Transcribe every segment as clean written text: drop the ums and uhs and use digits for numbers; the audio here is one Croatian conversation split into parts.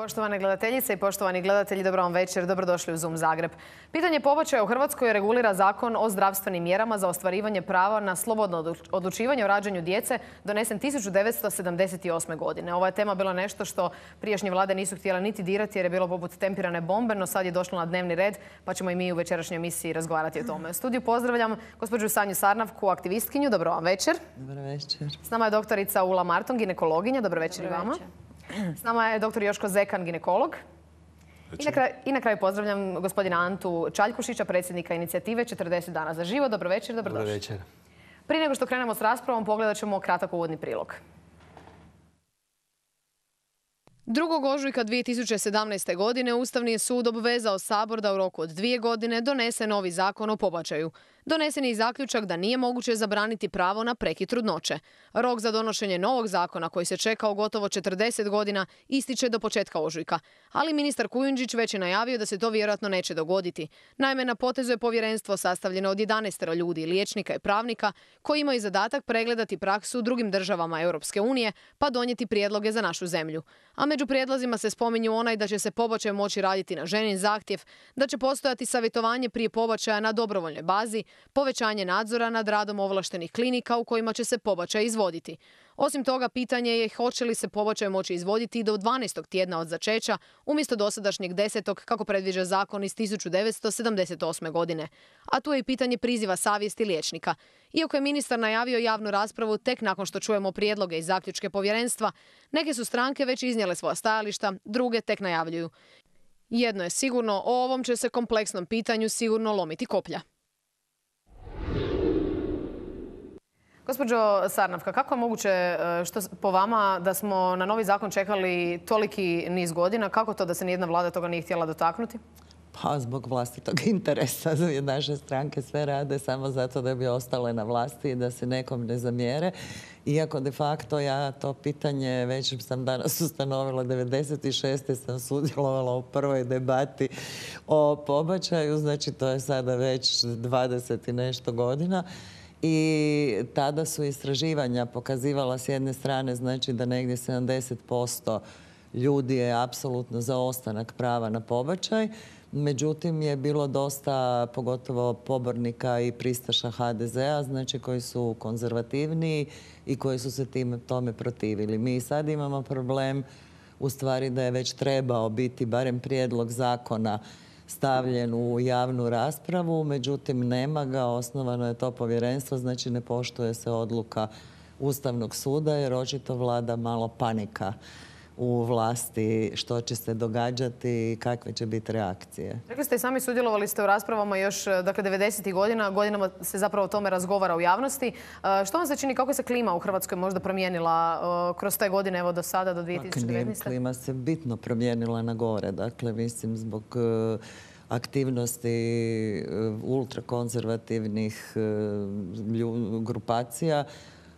Poštovane gledateljice i poštovani gledatelji, dobro vam večer, dobrodošli u Zoom Zagreb. Pitanje pobačaja u Hrvatskoj regulira Zakon o zdravstvenim mjerama za ostvarivanje prava na slobodno odlučivanje o rađanju djece, donesen 1978. godine. Ova je tema bila nešto što prijašnje vlade nisu htjele niti dirati jer je bilo poput tempirane bombe, no sad je došlo na dnevni red, pa ćemo i mi u večerašnjoj emisiji razgovarati o tome. U studiju pozdravljam gospođu Sanju Sarnavku, aktivistkinju. Dobro vam večer. Dobro večer. S nama je doktorica Ula Marton, ginekologinja. Dobro večer i vama. S nama je dr. Joško Zekan, ginekolog. I na kraju pozdravljam gospodina Antu Čaljkušića, predsjednika inicijative 40 dana za život. Dobro večer, dobrodošli. Dobro večer. Prije nego što krenemo s raspravom, pogledat ćemo kratak uvodni prilog. 2. ožujka 2017. godine Ustavni je sud obvezao Sabor da u roku od 2 godine donese novi zakon o pobačaju. Donesen je i zaključak da nije moguće zabraniti pravo na prekid trudnoće. Rok za donošenje novog zakona, koji se čekao gotovo 40 godina, ističe do početka ožujka. Ali ministar Kujundžić već je najavio da se to vjerojatno neće dogoditi. Naime, na potezu je povjerenstvo sastavljeno od 11 ljudi, liječnika i pravnika, koji imaju zadatak pregledati praksu u drugim državama Europske unije, pa donijeti prijedloge za našu zemlju. A među prijedlozima se spominju onaj da će se pobačaj moći raditi na ženin zahtjev, da će postojati savjetovanje prije pobačaja na dobrovoljnoj bazi, povećanje nadzora nad radom ovlaštenih klinika u kojima će se pobačaj izvoditi. Osim toga, pitanje je hoće li se pobačaj moći izvoditi do 12. tjedna od začeća, umjesto dosadašnjeg 10. kako predviđa zakon iz 1978. godine. A tu je i pitanje priziva savjesti liječnika. Iako je ministar najavio javnu raspravu tek nakon što čujemo prijedloge i zaključke povjerenstva, neke su stranke već iznijele svoja stajališta, druge tek najavljuju. Jedno je sigurno, o ovom će se kompleksnom pitanju sigurno lomiti koplja. Gospođo Sarnavka, kako je moguće što po vama da smo na novi zakon čekali toliki niz godina? Kako to da se nijedna vlada toga nije htjela dotaknuti? Pa zbog vlastitog interesa. Naše stranke sve rade samo zato da bi ostale na vlasti i da se nekom ne zamjere. Iako de facto ja to pitanje već sam danas ustanovila, 96. sam sudjelovala u prvoj debati o pobačaju, znači to je sada već 20 i nešto godina. I tada su istraživanja pokazivala s jedne strane znači da negdje 70% ljudi je apsolutno za ostanak prava na pobačaj. Međutim, je bilo dosta, pogotovo pobornika i pristaša HDZ-a, znači koji su konzervativniji i koji su se tome protivili. Mi sad imamo problem u stvari da je već trebao biti barem prijedlog zakona stavljen u javnu raspravu, međutim nema ga, osnovano je to povjerenstvo, znači ne poštuje se odluka Ustavnog suda jer očito vlada malo panika u vlasti što će se događati i kakve će biti reakcije. Rekli ste i sami, sudjelovali ste u raspravama još, dakle, 90. godina, godinama se zapravo o tome razgovara u javnosti. Što vam se čini, kako se klima u Hrvatskoj možda promijenila kroz te godine, evo do sada, do 2019? Klima se bitno promijenila na gore, dakle, mislim, zbog aktivnosti ultrakonzervativnih grupacija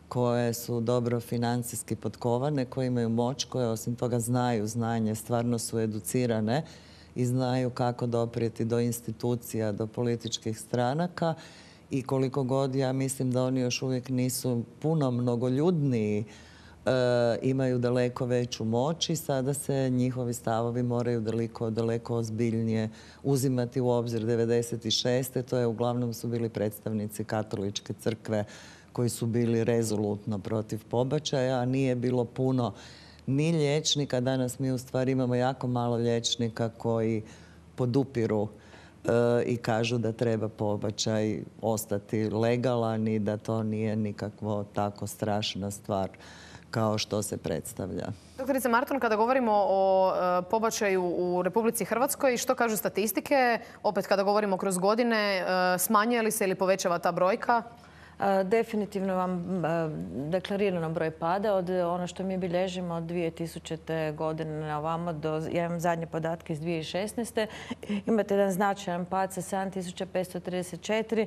koje su dobro financijski potkovane, koje imaju moć, koje osim toga znaju znanje, stvarno su educirane i znaju kako doprijeti do institucija, do političkih stranaka i koliko god ja mislim da oni još uvijek nisu puno mnogoljudniji, imaju daleko veću moć i sada se njihovi stavovi moraju daleko ozbiljnije uzimati u obzir. 96. to je uglavnom su bili predstavnici Katoličke crkve koji su bili rezolutno protiv pobačaja, a nije bilo puno ni liječnika. Danas mi u stvari imamo jako malo liječnika koji podupiru i kažu da treba pobačaj ostati legalan i da to nije nikakvo tako strašna stvar kao što se predstavlja. Doktorice Marton, kada govorimo o pobačaju u Republici Hrvatskoj, što kažu statistike? Opet kada govorimo kroz godine, smanjuje li se ili povećava ta brojka? Definitivno vam deklarirano broj pada. Od ono što mi bilježimo od 2000. godine na ovamo, ja imam zadnje podatke iz 2016. Imate jedan značajan pad sa 7534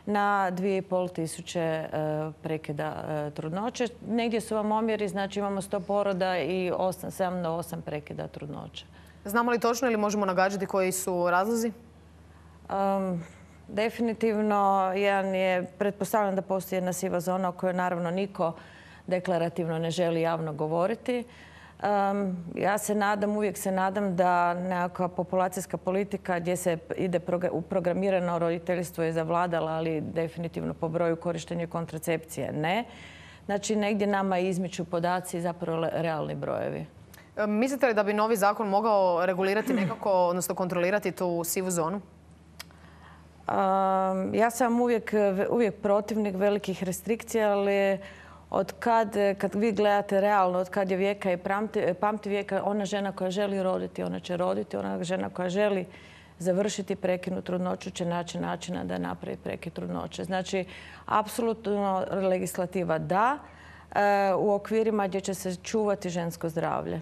na 2500 prekida trudnoće. Negdje su vam omjeri, znači imamo 100 poroda i 7 do 8 prekida trudnoće. Znamo li točno ili možemo nagađati koji su razlozi? Definitivno, jedan je, pretpostavljam da postoji jedna siva zona o kojoj naravno niko deklarativno ne želi javno govoriti. Ja se nadam, uvijek se nadam da nekakva populacijska politika gdje se ide u programirano roditeljstvo je zavladala, ali definitivno po broju korištenja kontracepcije ne. Znači, negdje nama izmiču podaci i zapravo realni brojevi. Mislite li da bi novi zakon mogao regulirati nekako, odnosno kontrolirati tu sivu zonu? Ja sam uvijek protivnik velikih restrikcija, ali kad vi gledate realno, od kad je vijeka i pamti vijeka, ona žena koja želi roditi, ona će roditi. Ona žena koja želi završiti prekidnu trudnoću će naći načina da napravi prekid trudnoće. Znači, apsolutno legislativa da, u okvirima gdje će se čuvati žensko zdravlje.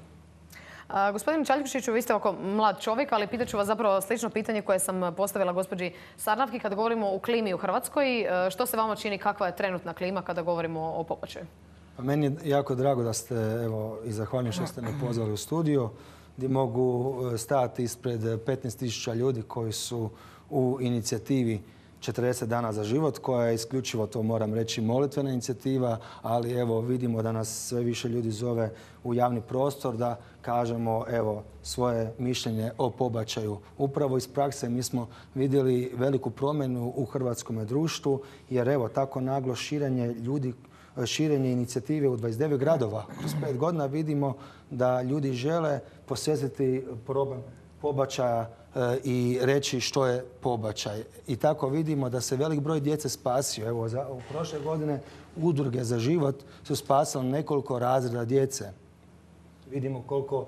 Gospodin Čaljkušiću, vi ste oko mlad čovjek, ali pitat ću vas zapravo slično pitanje koje sam postavila gospođi Sarnavki kad govorimo o klimi u Hrvatskoj. Što se vama čini, kakva je trenutna klima kada govorimo o pobačaju? Meni je jako drago da ste, i zahvaljujem što ste me pozvali u studio, gdje mogu stajati ispred 15.000 ljudi koji su u inicijativi 40 dana za život, koja je isključivo, to moram reći, molitvena inicijativa, ali evo vidimo da nas sve više ljudi zove u javni prostor da kažemo svoje mišljenje o pobačaju. Upravo iz prakse mi smo vidjeli veliku promjenu u hrvatskom društvu, jer tako naglo širenje inicijative u 29 gradova. Kroz 5 godina vidimo da ljudi žele posvetiti problem pobačaja i reći što je pobačaj. I tako vidimo da se velik broj djece spasio. U prošle godine udruge za život su spasile nekoliko razreda djece. Vidimo koliko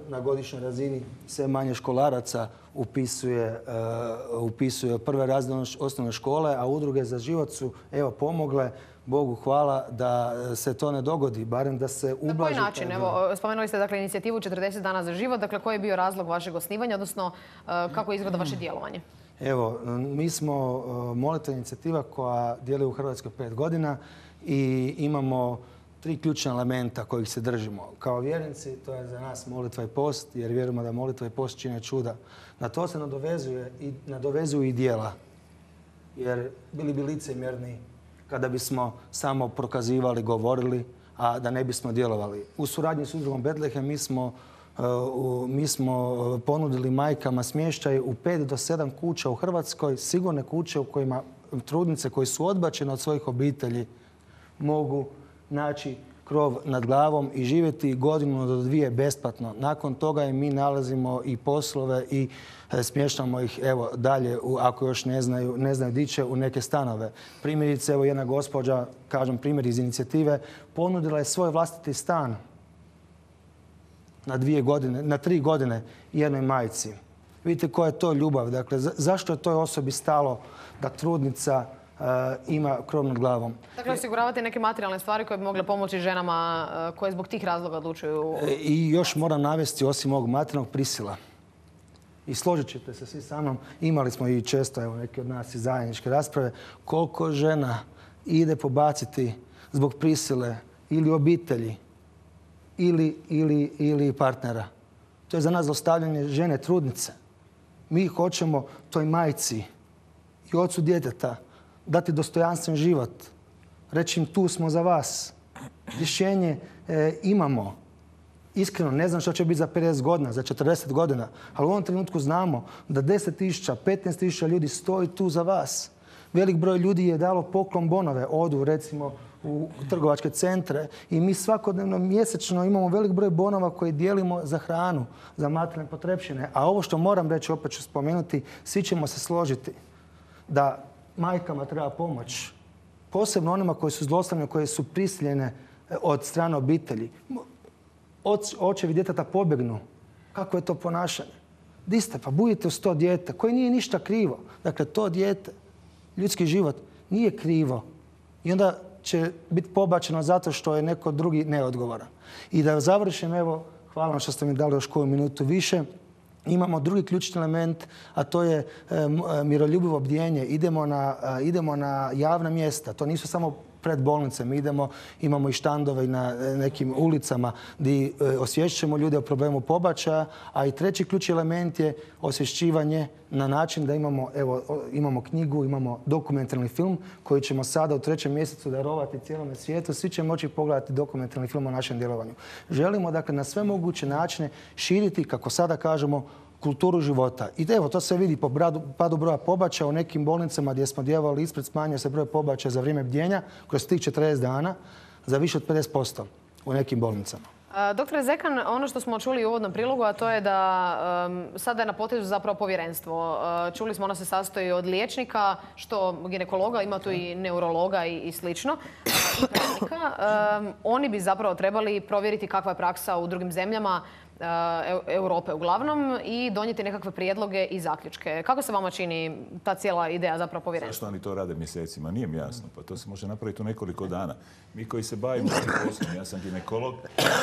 na godišnjoj razini sve manje školaraca upisuje prve razrede osnovne škole, a udruge za život su pomogle, Bogu hvala, da se to ne dogodi, barem da se ublaži. Na koji način? Spomenuli ste inicijativu 40 dana za život. Dakle, koji je bio razlog vašeg osnivanja, odnosno kako izgleda vaše djelovanje? Mi smo molitvena inicijativa koja djeluje u Hrvatskoj 5 godina i imamo 3 ključna elementa kojih se držimo. Kao vjernici, to je za nas molitva i post, jer vjerujemo da molitva i post čine čuda. Na to se nadovezuju i djela, jer bili bi licemjerni kada bismo samo prokazivali, govorili, a da ne bismo djelovali. U suradnji s udrugom Betlehem mi smo ponudili majkama smještaj u 5 do 7 kuća u Hrvatskoj, sigurne kuće u kojima trudnice koje su odbačene od svojih obitelji mogu naći krov nad glavom i živjeti 1 do 2 besplatno. Nakon toga im mi nalazimo i poslove i smještamo ih dalje, ako još ne znaju di će, u neke stanove. Primjerice, jedna gospođa, kažem primjer iz inicijative, ponudila je svoj vlastiti stan na 3 godine jednoj majci. Vidite koja je to ljubav. Dakle, zašto je toj osobi stalo da trudnica ima krov nad glavom? Dakle, osiguravati neke materijalne stvari koje bi mogle pomoći ženama koje zbog tih razloga odlučuju. I još moram navesti, osim ovog materijalnog, prisila. I složit ćete se svi sa mnom, imali smo i često, neki od nas i zajedničke rasprave, koliko žena ide pobaciti zbog prisile ili obitelji ili partnera. To je za nas zlostavljanje žene, trudnice. Mi hoćemo toj majci i ocu djeteta dati dostojanstven život. Reći im, tu smo za vas. Rješenje imamo. Iskreno, ne znam što će biti za 50 godina, za 40 godina, ali u ovom trenutku znamo da 10.000, 15.000 ljudi stoji tu za vas. Velik broj ljudi je dalo poklon bonove, odu recimo u trgovačke centre i mi svakodnevno mjesečno imamo velik broj bonova koje dijelimo za hranu, za materijalne potrepštine. A ovo što moram reći, opet ću spomenuti, svi ćemo se složiti da majkama treba pomoć. Posebno onima koji su zlostavljene, koje su prisiljene od strane obitelji. Očevi djeteta pobjegnu. Kako je to ponašanje? Di ste? Pa budite uz to dijete koje nije ništa krivo. Dakle, to dijete, ljudski život, nije krivo. I onda će biti pobačeno zato što je neko drugi neodgovoran. I da završim, hvala vam što ste mi dali još koju minutu više. Imamo drugi ključni element, a to je miroljubivo bdjenje. Idemo na javna mjesta. To nisu samo pred bolnicama idemo, imamo i štandove na nekim ulicama gdje osvješćujemo ljude o problemu pobačaja, a i treći ključni element je osvješćivanje na način da imamo knjigu, imamo dokumentarni film koji ćemo sada u 3. mjesecu darovati cijelome svijetu. Svi će moći pogledati dokumentarni film o našem djelovanju. Želimo dakle na sve moguće načine širiti, kako sada kažemo, kulturu života. I evo, to se vidi po padu broja pobačaja u nekim bolnicama gdje smo djelovali ispred, smanjio se broj pobačaja za vrijeme bdjenja kroz tih 40 dana za više od 50% u nekim bolnicama. Doktore Zekan, ono što smo čuli u uvodnom prilogu, a to je da sada je na potezu zapravo povjerenstvo. Čuli smo, ono se sastoji od liječnika, što ginekologa, ima tu i neurologa i slično, i pravnika. Oni bi zapravo trebali provjeriti kakva je praksa u drugim zemljama Europe uglavnom i donijeti nekakve prijedloge i zaključke. Kako se vama čini ta cijela ideja zapravo povjerenstva? Zašto oni to rade mjesecima? Nije mi jasno. Pa to se može napraviti u nekoliko dana. Mi koji se bavimo tim poslom, ja sam ginekolog,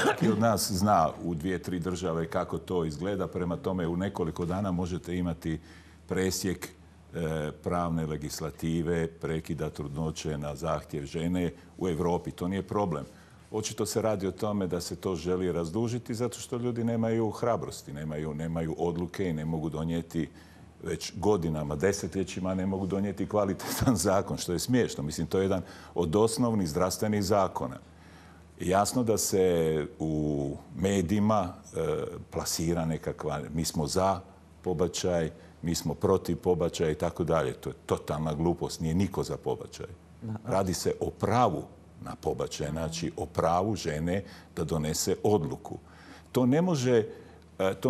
svaki od nas zna u 2-3 države kako to izgleda. Prema tome u nekoliko dana možete imati presjek pravne legislative, prekida trudnoće na zahtjev žene u Europi. To nije problem. Očito se radi o tome da se to želi razdužiti zato što ljudi nemaju hrabrosti, nemaju odluke i ne mogu donijeti već godinama, desetljećima ne mogu donijeti kvalitetan zakon, što je smiješno. Mislim, to je jedan od osnovnih zdravstvenih zakona. Jasno da se u medijima plasira nekakva, mi smo za pobačaj, mi smo protiv pobačaja i tako dalje. To je totalna glupost, nije niko za pobačaj. Radi se o pravu na pobačaj, znači o pravu žene da donese odluku. To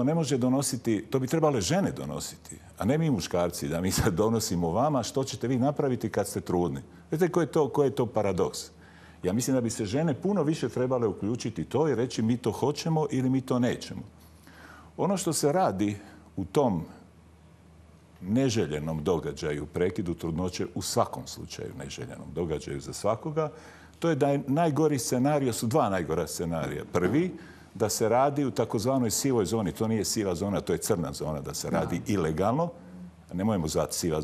ne može donositi, to bi trebale žene donositi, a ne mi muškarci, da mi sad donosimo vama što ćete vi napraviti kad ste trudni. Vidite koji je to paradoks? Ja mislim da bi se žene puno više trebale uključiti to i reći mi to hoćemo ili mi to nećemo. Ono što se radi u tom neželjenom događaju, prekidu trudnoće, u svakom slučaju neželjenom događaju za svakoga, to je da je najgori scenarij, su dva najgora scenarija. Prvi, da se radi u takozvanoj sivoj zoni. To nije siva zona, to je crna zona, da se radi ilegalno. Nemojmo zvati siva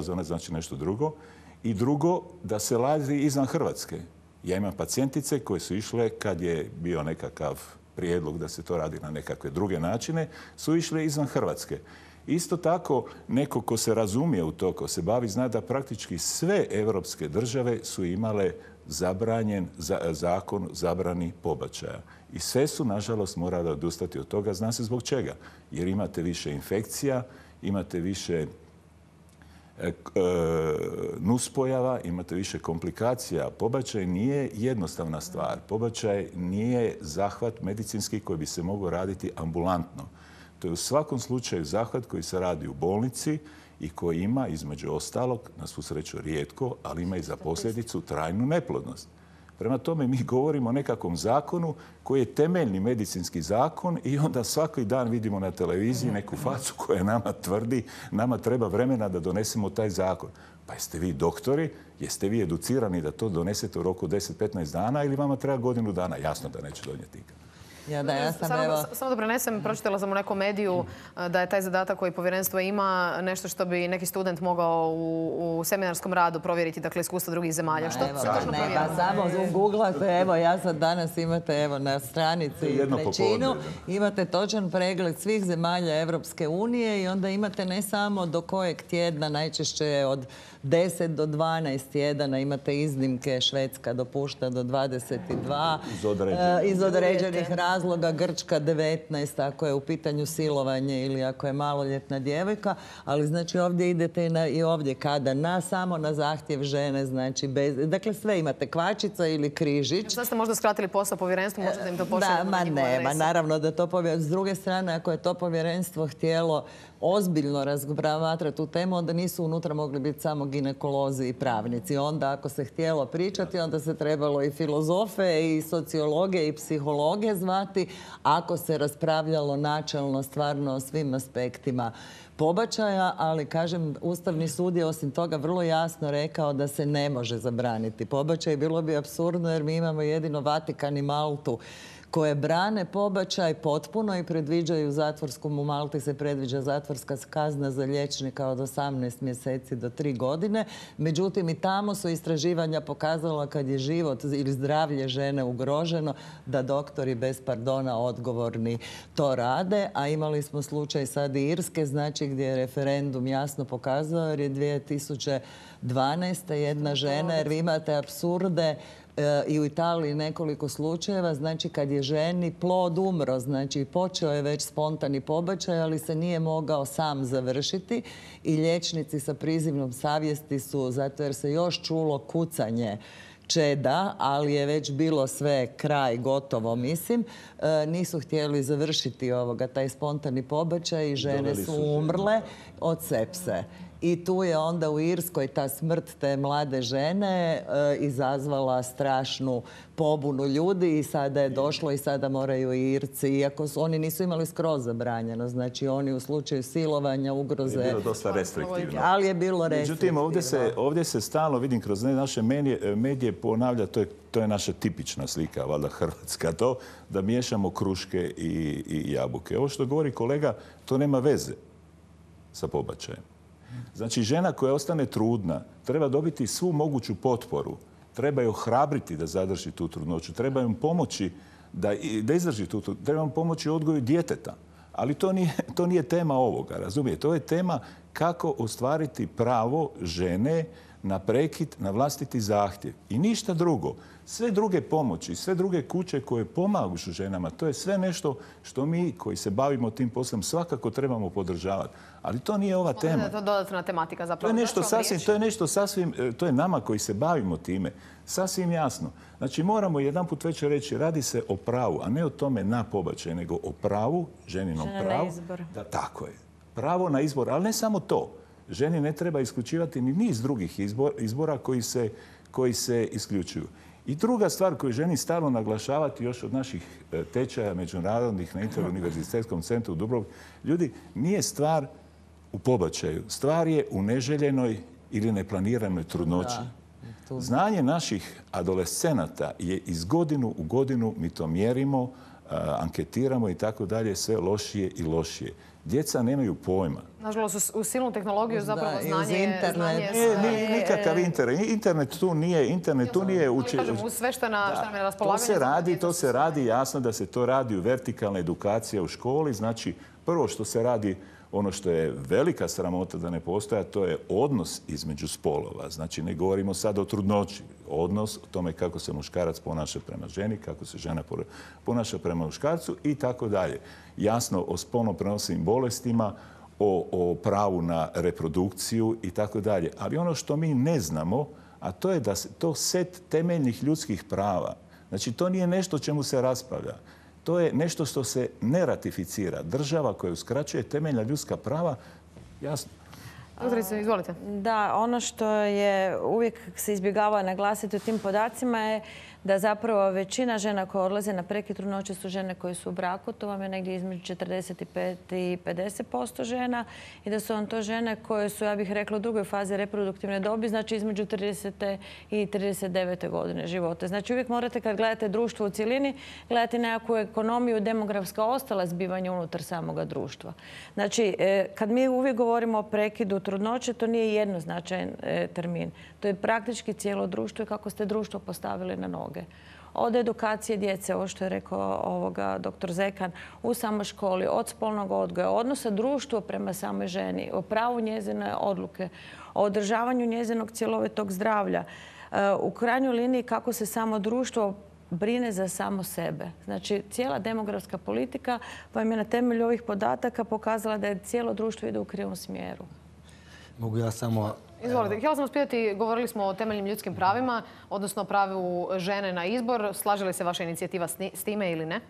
zona znači nešto drugo. I drugo, da se radi izvan Hrvatske. Ja imam pacijentice koje su išle, kad je bio nekakav prijedlog da se to radi na nekakve druge načine, su išle izvan Hrvatske. Isto tako, neko ko se razumije u to, ko se bavi, zna da praktički sve europske države su imale zabranjen zakon zabrani pobačaja. I sve su, nažalost, morale odustati od toga. Zna se zbog čega. Jer imate više infekcija, imate više nuspojava, imate više komplikacija. Pobačaj nije jednostavna stvar. Pobačaj nije zahvat medicinski koji bi se mogao raditi ambulantno. To je u svakom slučaju zahvat koji se radi u bolnici i koji ima, između ostalog, na svu sreću rijetko, ali ima i za posljedicu trajnu neplodnost. Prema tome mi govorimo o nekakvom zakonu koji je temeljni medicinski zakon i onda svaki dan vidimo na televiziji neku facu koja nama tvrdi nama treba vremena da donesemo taj zakon. Pa jeste vi doktori, jeste vi educirani da to donesete u roku 10-15 dana ili vama treba godinu dana? Jasno da neće donijeti ikad. Samo da prenesem, pročitala sam u nekom mediju da je taj zadatak koji povjerenstvo ima nešto što bi neki student mogao u seminarskom radu provjeriti, dakle iskustva drugih zemalja. Što točno provjerava? Samo googlate, evo ja sad danas imate na stranici trećinu, imate točan pregled svih zemalja Evropske unije i onda imate ne samo do kojeg tjedna, najčešće od 10 do 12 tjedana, imate iznimke, Švedska dopušta do 22, iz određenih razloga, Grčka 19, ako je u pitanju silovanje ili ako je maloljetna djevojka, ali znači ovdje idete i ovdje kada samo na zahtjev žene, znači dakle sve imate, kvačica ili križić. Sad ste možda skratili posao povjerenstvu, možete im to pošaljati na njihovu adresu. Naravno da to povjerenstvo, s druge strane, ako je to povjerenstvo htjelo ozbiljno razmatrati tu temu, onda nisu unutra mogli biti samo ginekolozi i pravnici. Onda ako se htjelo pričati, onda se trebalo i filozofe i sociologe i psihologe zvati. Ako se raspravljalo načelno stvarno o svim aspektima pobačaja, ali kažem, Ustavni sud je osim toga vrlo jasno rekao da se ne može zabraniti pobačaj. Bilo bi apsurdno jer mi imamo jedino Vatikan i Maltu koje brane pobačaj potpuno i predviđaju zatvorsku, u Malti se predviđa zatvorska kazna za liječnika od 18 mjeseci do 3 godine. Međutim, i tamo su istraživanja pokazala kad je život ili zdravlje žene ugroženo, da doktori bez pardona odgovorni to rade. A imali smo slučaj sad i Irske, znači gdje je referendum jasno pokazao, jer je 2012. jedna žena, jer vi imate apsurde i u Italiji nekoliko slučajeva, znači kad je ženi plod umro, znači počeo je već spontani pobačaj, ali se nije mogao sam završiti i liječnici sa prizivnom savjesti su, zato jer se još čulo kucanje čeda, ali je već bilo sve kraj, gotovo, mislim. Nisu htjeli završiti taj spontani pobačaj i žene su umrle od sepse. I tu je onda u Irskoj ta smrt te mlade žene izazvala strašnu pobunu ljudi i sada je došlo i sada moraju i Irci, iako oni nisu imali skroz zabranjeno, znači oni u slučaju silovanja, ugroze... Je bilo dosta restriktivno. Ali je bilo restriktivno. Međutim, ovdje se stalno, vidim kroz naše medije ponavlja, to je naša tipična slika, valjda hrvatska, to da miješamo kruške i jabuke. Ovo što govori kolega, to nema veze sa pobačajem. Znači, žena koja ostane trudna treba dobiti svu moguću potporu. Treba je ohrabriti da zadrži tu trudnoću. Treba joj pomoći da izdrži tu trudnoću. Treba joj pomoći u odgoju djeteta. Ali to nije tema ovoga, razumijete? To je tema kako ostvariti pravo žene na prekid, na vlastiti zahtjev. I ništa drugo. Sve druge pomoći, sve druge kuće koje pomažu ženama, to je sve nešto što mi koji se bavimo tim poslom svakako trebamo podržavati. Ali to nije ova tema. To je dodatna tematika zapravo. To je nama koji se bavimo time sasvim jasno. Znači moramo jedanput već reći, radi se o pravu, a ne o tome na pobačaj, nego o pravu, ženinom pravu. Da, tako je. Pravo na izbor, ali ne samo to. Ženi ne treba isključivati ni niz drugih izbora koji se isključuju. I druga stvar koju želim stalno naglašavati još od naših tečaja međunarodnih na Interuniverzitetskom centru u Dubrovniku, ljudi, nije stvar u pobačaju. Stvar je u neželjenoj ili neplaniranoj trudnoći. Znanje naših adolescenata je iz godinu u godinu, mi to mjerimo, anketiramo i tako dalje, sve lošije i lošije. Djeca nemaju pojma. Nažalost, u silnu tehnologiju zapravo znanje... Nikakav internet. Internet tu nije... Kažem, sve što nam je na raspolaganju... To se radi, jasno da se to radi u vertikalna edukacija u školi. Znači, prvo što se radi, ono što je velika sramota da ne postoja, to je odnos između spolova. Znači, ne govorimo sad o trudnoći. Odnos o tome kako se muškarac ponaša prema ženi, kako se žena ponaša prema muškarcu i tako dalje. Jasno o spolno prenosivim bolestima, o pravu na reprodukciju i tako dalje. Ali ono što mi ne znamo, a to je da to set temeljnih ljudskih prava. Znači, to nije nešto čemu se raspravlja. To je nešto što se ne ratificira. Država koja uskraćuje temeljna ljudska prava, jasno. Doktorice, izvolite. Da, ono što je uvijek se izbjegava naglasiti u tim podacima je da zapravo većina žena koje odlaze na prekid trudnoće su žene koje su u braku. To vam je negdje između 45 i 50% žena. I da su vam to žene koje su, ja bih rekla, u drugoj fazi reproduktivne dobi, znači između 30. i 39. godine života. Znači uvijek morate, kad gledate društvo u cjelini, gledati nekakvu ekonomiju, demografska ostala zbivanja unutar samoga društva. Znači, kad mi uvijek govorimo o prekidu trudnoće, to nije jednoznačajan termin. To je praktički cijelo društvo i kako ste društvo postavili na noge. Od edukacije djece, ovo što je rekao dr. Zekan, u samoj školi, od spolnog odgoja, odnosa društva prema samoj ženi, o pravu njezine odluke, o održavanju njezinog cjelovitog zdravlja. U krajnjoj liniji kako se samo društvo brine za samo sebe. Znači, cijela demografska politika vam je na temelju ovih podataka pokazala da je cijelo društvo ide u krivom smjeru. Mogu ja samo... Izvolite. Htjela sam vas pitati, govorili smo o temeljnim ljudskim pravima, odnosno o pravu žene na izbor. Slaže li se vaša inicijativa s time ili ne?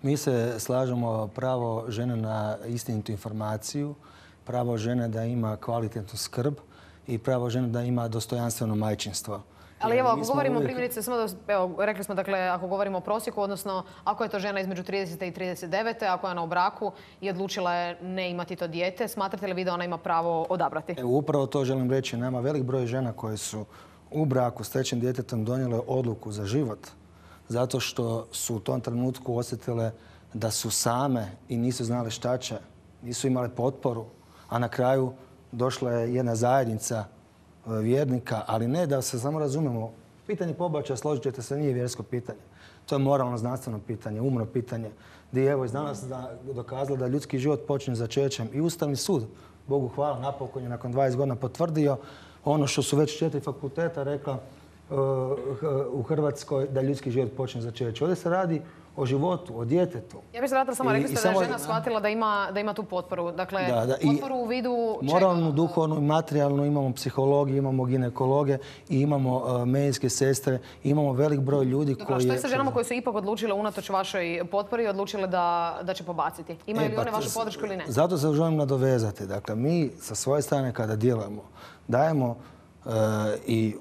Mi se slažemo pravo žene na istinitu informaciju, pravo žene da ima kvalitetnu skrb i pravo žene da ima dostojanstveno majčinstvo. Ali evo, ako govorimo primjerice, rekli smo, dakle, ako govorimo o prosjeku, odnosno ako je to žena između 30. i 39. ako je ona u braku i odlučila je ne imati to dijete, smatrate li vi da ona ima pravo odabrati? Upravo to želim reći. Nama velik broj žena koje su u braku s trećim djetetom donijele odluku za život zato što su u tom trenutku osjetile da su same i nisu znale šta će, nisu imale potporu, a na kraju došla je jedna zajednica vjernika, ali ne da se samo razumemo. Pitanje pobačaja, složit ćete se, nije vjersko pitanje. To je moralno znanstveno pitanje, umno pitanje, gdje je evo iz danas dokazalo da ljudski život počinje začećem. I Ustavni sud, Bogu hvala, napokon je nakon 20 godina potvrdio ono što su već 4 fakulteta rekla u Hrvatskoj, da ljudski život počinje začećem. Ovdje se radi o životu, o djetetu. Ja bih se vratila samo, rekli ste da je žena shvatila da ima tu potporu. Dakle, potporu u vidu čega? Moralnu, duhovnu i materijalnu, imamo psihologi, imamo ginekologe i imamo medicinske sestre, imamo velik broj ljudi koji... Što je sa ženama koje su ipak odlučile unatoč vašoj potpori i odlučile da će pobaciti? Imaju li one vašu podršku ili ne? Zato se želim nadovezati. Dakle, mi sa svoje strane kada djelujemo, dajemo i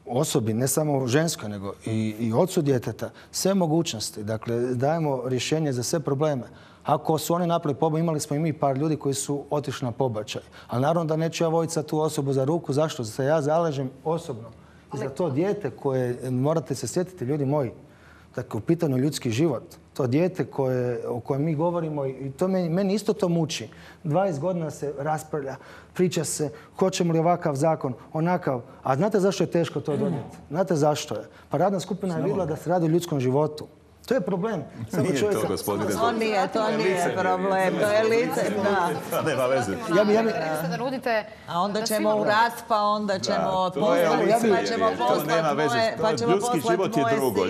osobi, ne samo ženskoj, nego i ocu djeteta, sve mogućnosti. Dakle, dajemo rješenje za sve probleme. Ako su oni napravili pobačaj, imali smo i mi par ljudi koji su otišli na pobačaj. Ali naravno da neću ja voditi sad tu osobu za ruku. Zašto? Zato ja zalažem osobno i za to dijete koje, morate se sjetiti, ljudi moji, dakle, u pitanju ljudski život. To dijete o kojem mi govorimo, i to meni isto to muči. 20 godina se raspravlja, priča se, hoćemo li ovakav zakon, onakav. A znate zašto je teško to donijeti? Znate zašto je? Pa radna skupina je vidjela da se radi o ljudskom životu. To je problem. Nije to, gospodine. To nije problem, to je lice. Nema veze. A onda ćemo u rat, pa onda ćemo Ljudski život je drugo.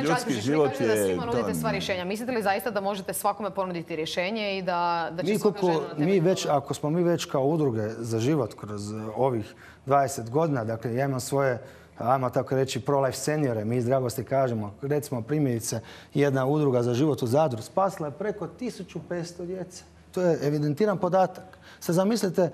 Ljudski život je... Da svima nudite sva rješenja. Mislite li zaista da možete svakome ponuditi rješenje i da će svaka žena na temelju... Ako smo mi već kao udruge za život kroz ovih 20 godina, dakle, ja imam svoje, ajmo tako reći, pro-life seniore, mi iz dragosti kažemo, recimo primjerice, jedna udruga za život u Zadru spasila je preko 1500 djece. To je evidentiran podatak. Sad zamislite...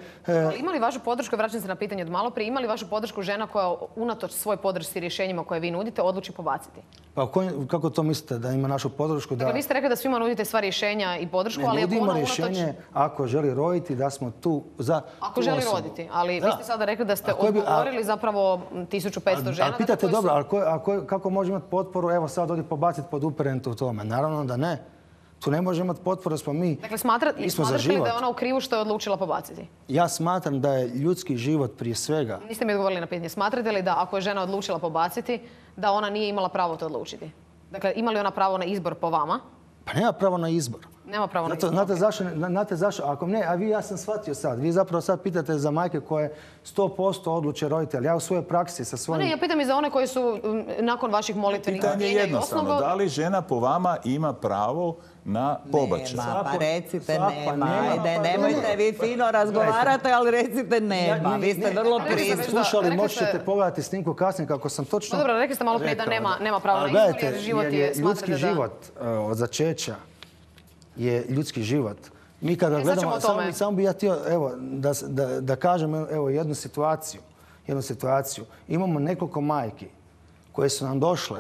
Ima li vašu podršku, vraćam se na pitanje od malo prije, ima li vašu podršku žena koja unatoč svoj podršci rješenjima koje vi nudite odluči pobaciti? Pa kako to mislite da ima našu podršku? Dakle, vi ste rekli da svima nudite sva rješenja i podršku, ali ako ona unatoč... rješenje ako želi roditi, da smo tu za... Ako želi roditi, ali vi ste sada rekli da ste odgovorili zapravo 1500 žena... Ali pitate dobro, kako može imati potporu, evo sad odi pobaciti pod uperentu u tome? Naravno da ne. Tu ne može imati potporu, smo mi. Dakle, smatrate li da je ona u krivu što je odlučila pobaciti? Ja smatram da je ljudski život prije svega. Niste mi odgovorili na pitanje. Smatrate li da ako je žena odlučila pobaciti, da ona nije imala pravo to odlučiti? Dakle, ima li ona pravo na izbor po vama? Pa nema pravo na izbor. Nema pravo na izbor. Znate zašto? Ako ne, a vi, ja sam shvatio sad. Vi zapravo sad pitate za majke koje 100% odluče roditelj. Ja u svojoj praksi sa svojim... Ne, ja pitam i za one koji su nakon vaših molitvenih... Pitanje je jednostavno. Da li žena po vama ima pravo na pobačaj? Nema, pa recite nema. Ajde, nemojte vi fino razgovarate, ali recite nema. Vi ste vrlo prisutni. Slušali, možete pogledati snimku kasnije kako sam točno... Dobro, rekli ste malo prije da nema pravo na izbor jer život je... Ljudski život od začeća je ljudski život. Mi kada gledamo, samo bi ja htio da kažem jednu situaciju. Imamo nekoliko majki koje su nam došle,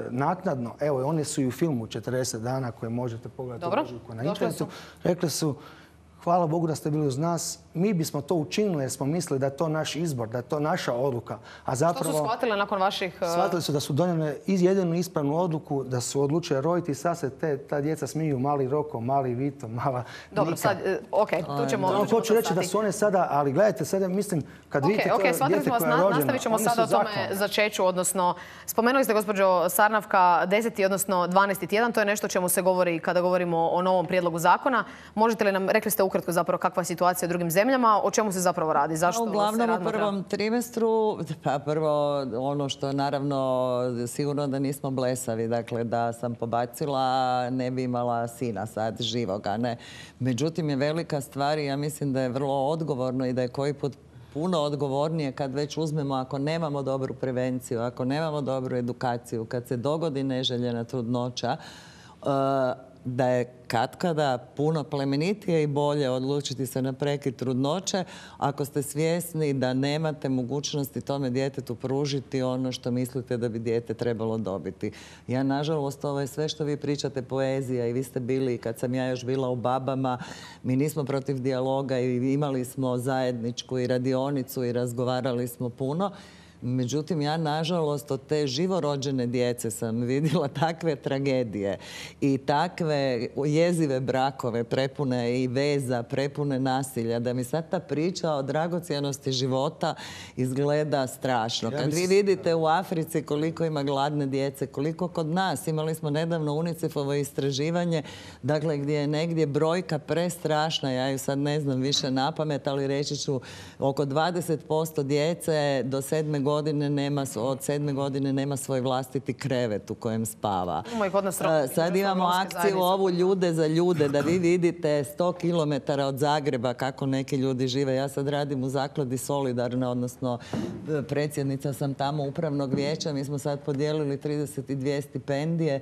naknadno, one su i u filmu 40 dana koje možete pogledati na internetu. Rekli su, hvala Bogu da ste bili uz nas. Mi bismo to učinili jer smo mislili da je to naš izbor, da je to naša odluka. A zapravo... Što su shvatile nakon vaših... Shvatili su da su donijeli jedinu ispravnu odluku, da su odlučili roditi i sad se ta djeca smiju, mali Roko, mali Vito, mala Nika. Dobro, sad, okej, tu ćemo... Hoću reći da su one sada, ali gledajte, sada mislim, kad vidite to dijete koje je rođeno... Nastavit ćemo sada o tome začeću, odnosno, spomenuli ste, gospođo Sarnavka, 10. odnosno 12. tjedan, to je nešto o čemu se govori kada govorimo o novom prijedlogu zakona. Možete li nam, rekli ste ukratko zapravo kakva je situacija u drugim zemljama, o čemu se zapravo radi? Zašto uglavnom u prvom trimestru, pa prvo ono što naravno sigurno da nismo blesavi, dakle da sam pobacila ne bi imala sina sad živoga, ne. Međutim je velika stvar i ja mislim da je vrlo odgovorno i da je koji put puno odgovornije kad već uzmemo, ako nemamo dobru prevenciju, ako nemamo dobru edukaciju, kad se dogodi neželjena trudnoća, da je katkada puno plemenitije i bolje odlučiti se na prekid trudnoće ako ste svjesni da nemate mogućnosti tome djetetu pružiti ono što mislite da bi dijete trebalo dobiti. Ja, nažalost, ovo je sve što vi pričate poezija i vi ste bili, kad sam ja još bila u Babama, mi nismo protiv dijaloga i imali smo zajedničku i radionicu i razgovarali smo puno. Međutim, ja nažalost od te živorođene djece sam vidjela takve tragedije i takve jezive brakove prepune i veza, prepune nasilja, da mi sad ta priča o dragocjenosti života izgleda strašno. Kad vi vidite u Africi koliko ima gladne djece, koliko kod nas, imali smo nedavno UNICEF-ovo istraživanje, dakle gdje je negdje brojka prestrašna, ja ju sad ne znam više napamet, ali reći ću oko 20% djece do 7. godine od 7. godine nema svoj vlastiti krevet u kojem spava. Sad imamo akciju ovu ljude za ljude, da vi vidite 100 km od Zagreba kako neki ljudi žive. Ja sad radim u zakladi Solidarna, odnosno predsjednica sam tamo upravnog vijeća. Mi smo sad podijelili 32 stipendije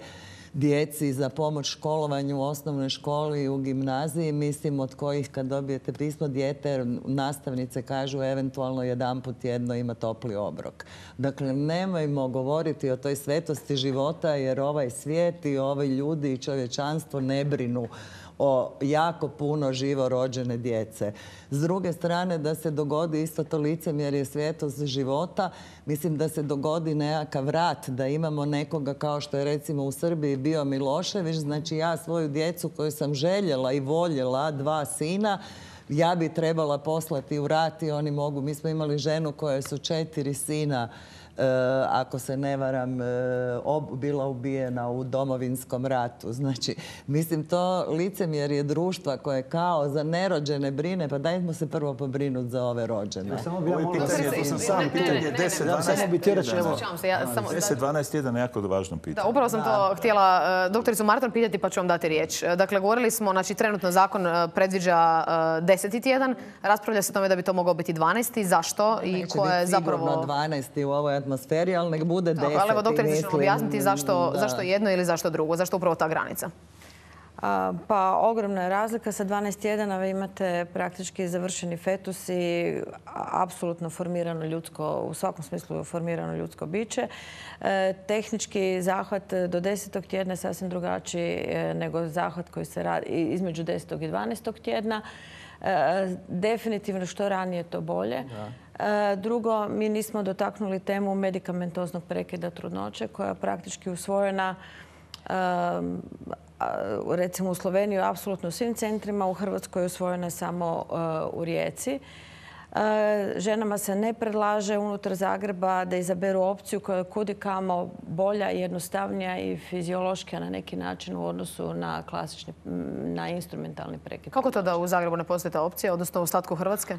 djeci za pomoć školovanju u osnovnoj školi i u gimnaziji, mislim od kojih kad dobijete pismo dijete, nastavnice kažu eventualno jedanput tjedno ima topli obrok. Dakle, nemojmo govoriti o toj svetosti života jer ovaj svijet i ovi ljudi i čovječanstvo ne brinu o jako puno živo rođene djece. S druge strane, da se dogodi isto to licemjerje svetost života, mislim da se dogodi nekakav rat, da imamo nekoga kao što je recimo u Srbiji bio Milošević, znači ja svoju djecu koju sam željela i voljela, 2 sina, ja bi trebala poslati u rat i oni mogu. Mi smo imali ženu koja su 4 sina, ako se ne varam, bila ubijena u Domovinskom ratu. Znači, mislim, to licemjerje društva koje kao za nerođene brine, pa dajmo se prvo pobrinuti za ove rođene. Samo bi ja molila, to sam sam pitanje 10-12 tjedana je jako važno pitanje. Da, upravo sam to htjela doktoricu Marton pitati, pa ću vam dati riječ. Dakle, govorili smo, znači, trenutno zakon predviđa 10. tjedan. Raspravlja se o tome da bi to mogao biti 12. Zašto? I ko je zapravo 12. u ovoj atmosferi, ali nek bude 10. Ali evo, doktorice, ćemo objasniti zašto jedno ili zašto drugo, zašto upravo ta granica? Pa ogromna je razlika. Sa 12 tjedana vi imate praktički završeni fetus i apsolutno formirano ljudsko, u svakom smislu formirano ljudsko biće. Tehnički zahvat do 10. tjedna je sasvim drugačiji nego zahvat koji se radi između 10. i 12. tjedna. Definitivno što ranije to bolje. Drugo, mi nismo dotaknuli temu medikamentoznog prekida trudnoće koja je praktički usvojena recimo u Sloveniji apsolutno u svim centrima, u Hrvatskoj je usvojena samo u Rijeci. Ženama se ne predlaže unutar Zagreba da izaberu opciju koja je kudikamo bolja, jednostavnija i fiziološka na neki način u odnosu na klasični, na instrumentalni prekid. Kako to da u Zagrebu ne postoji ta opcija, odnosno u ostatku Hrvatske?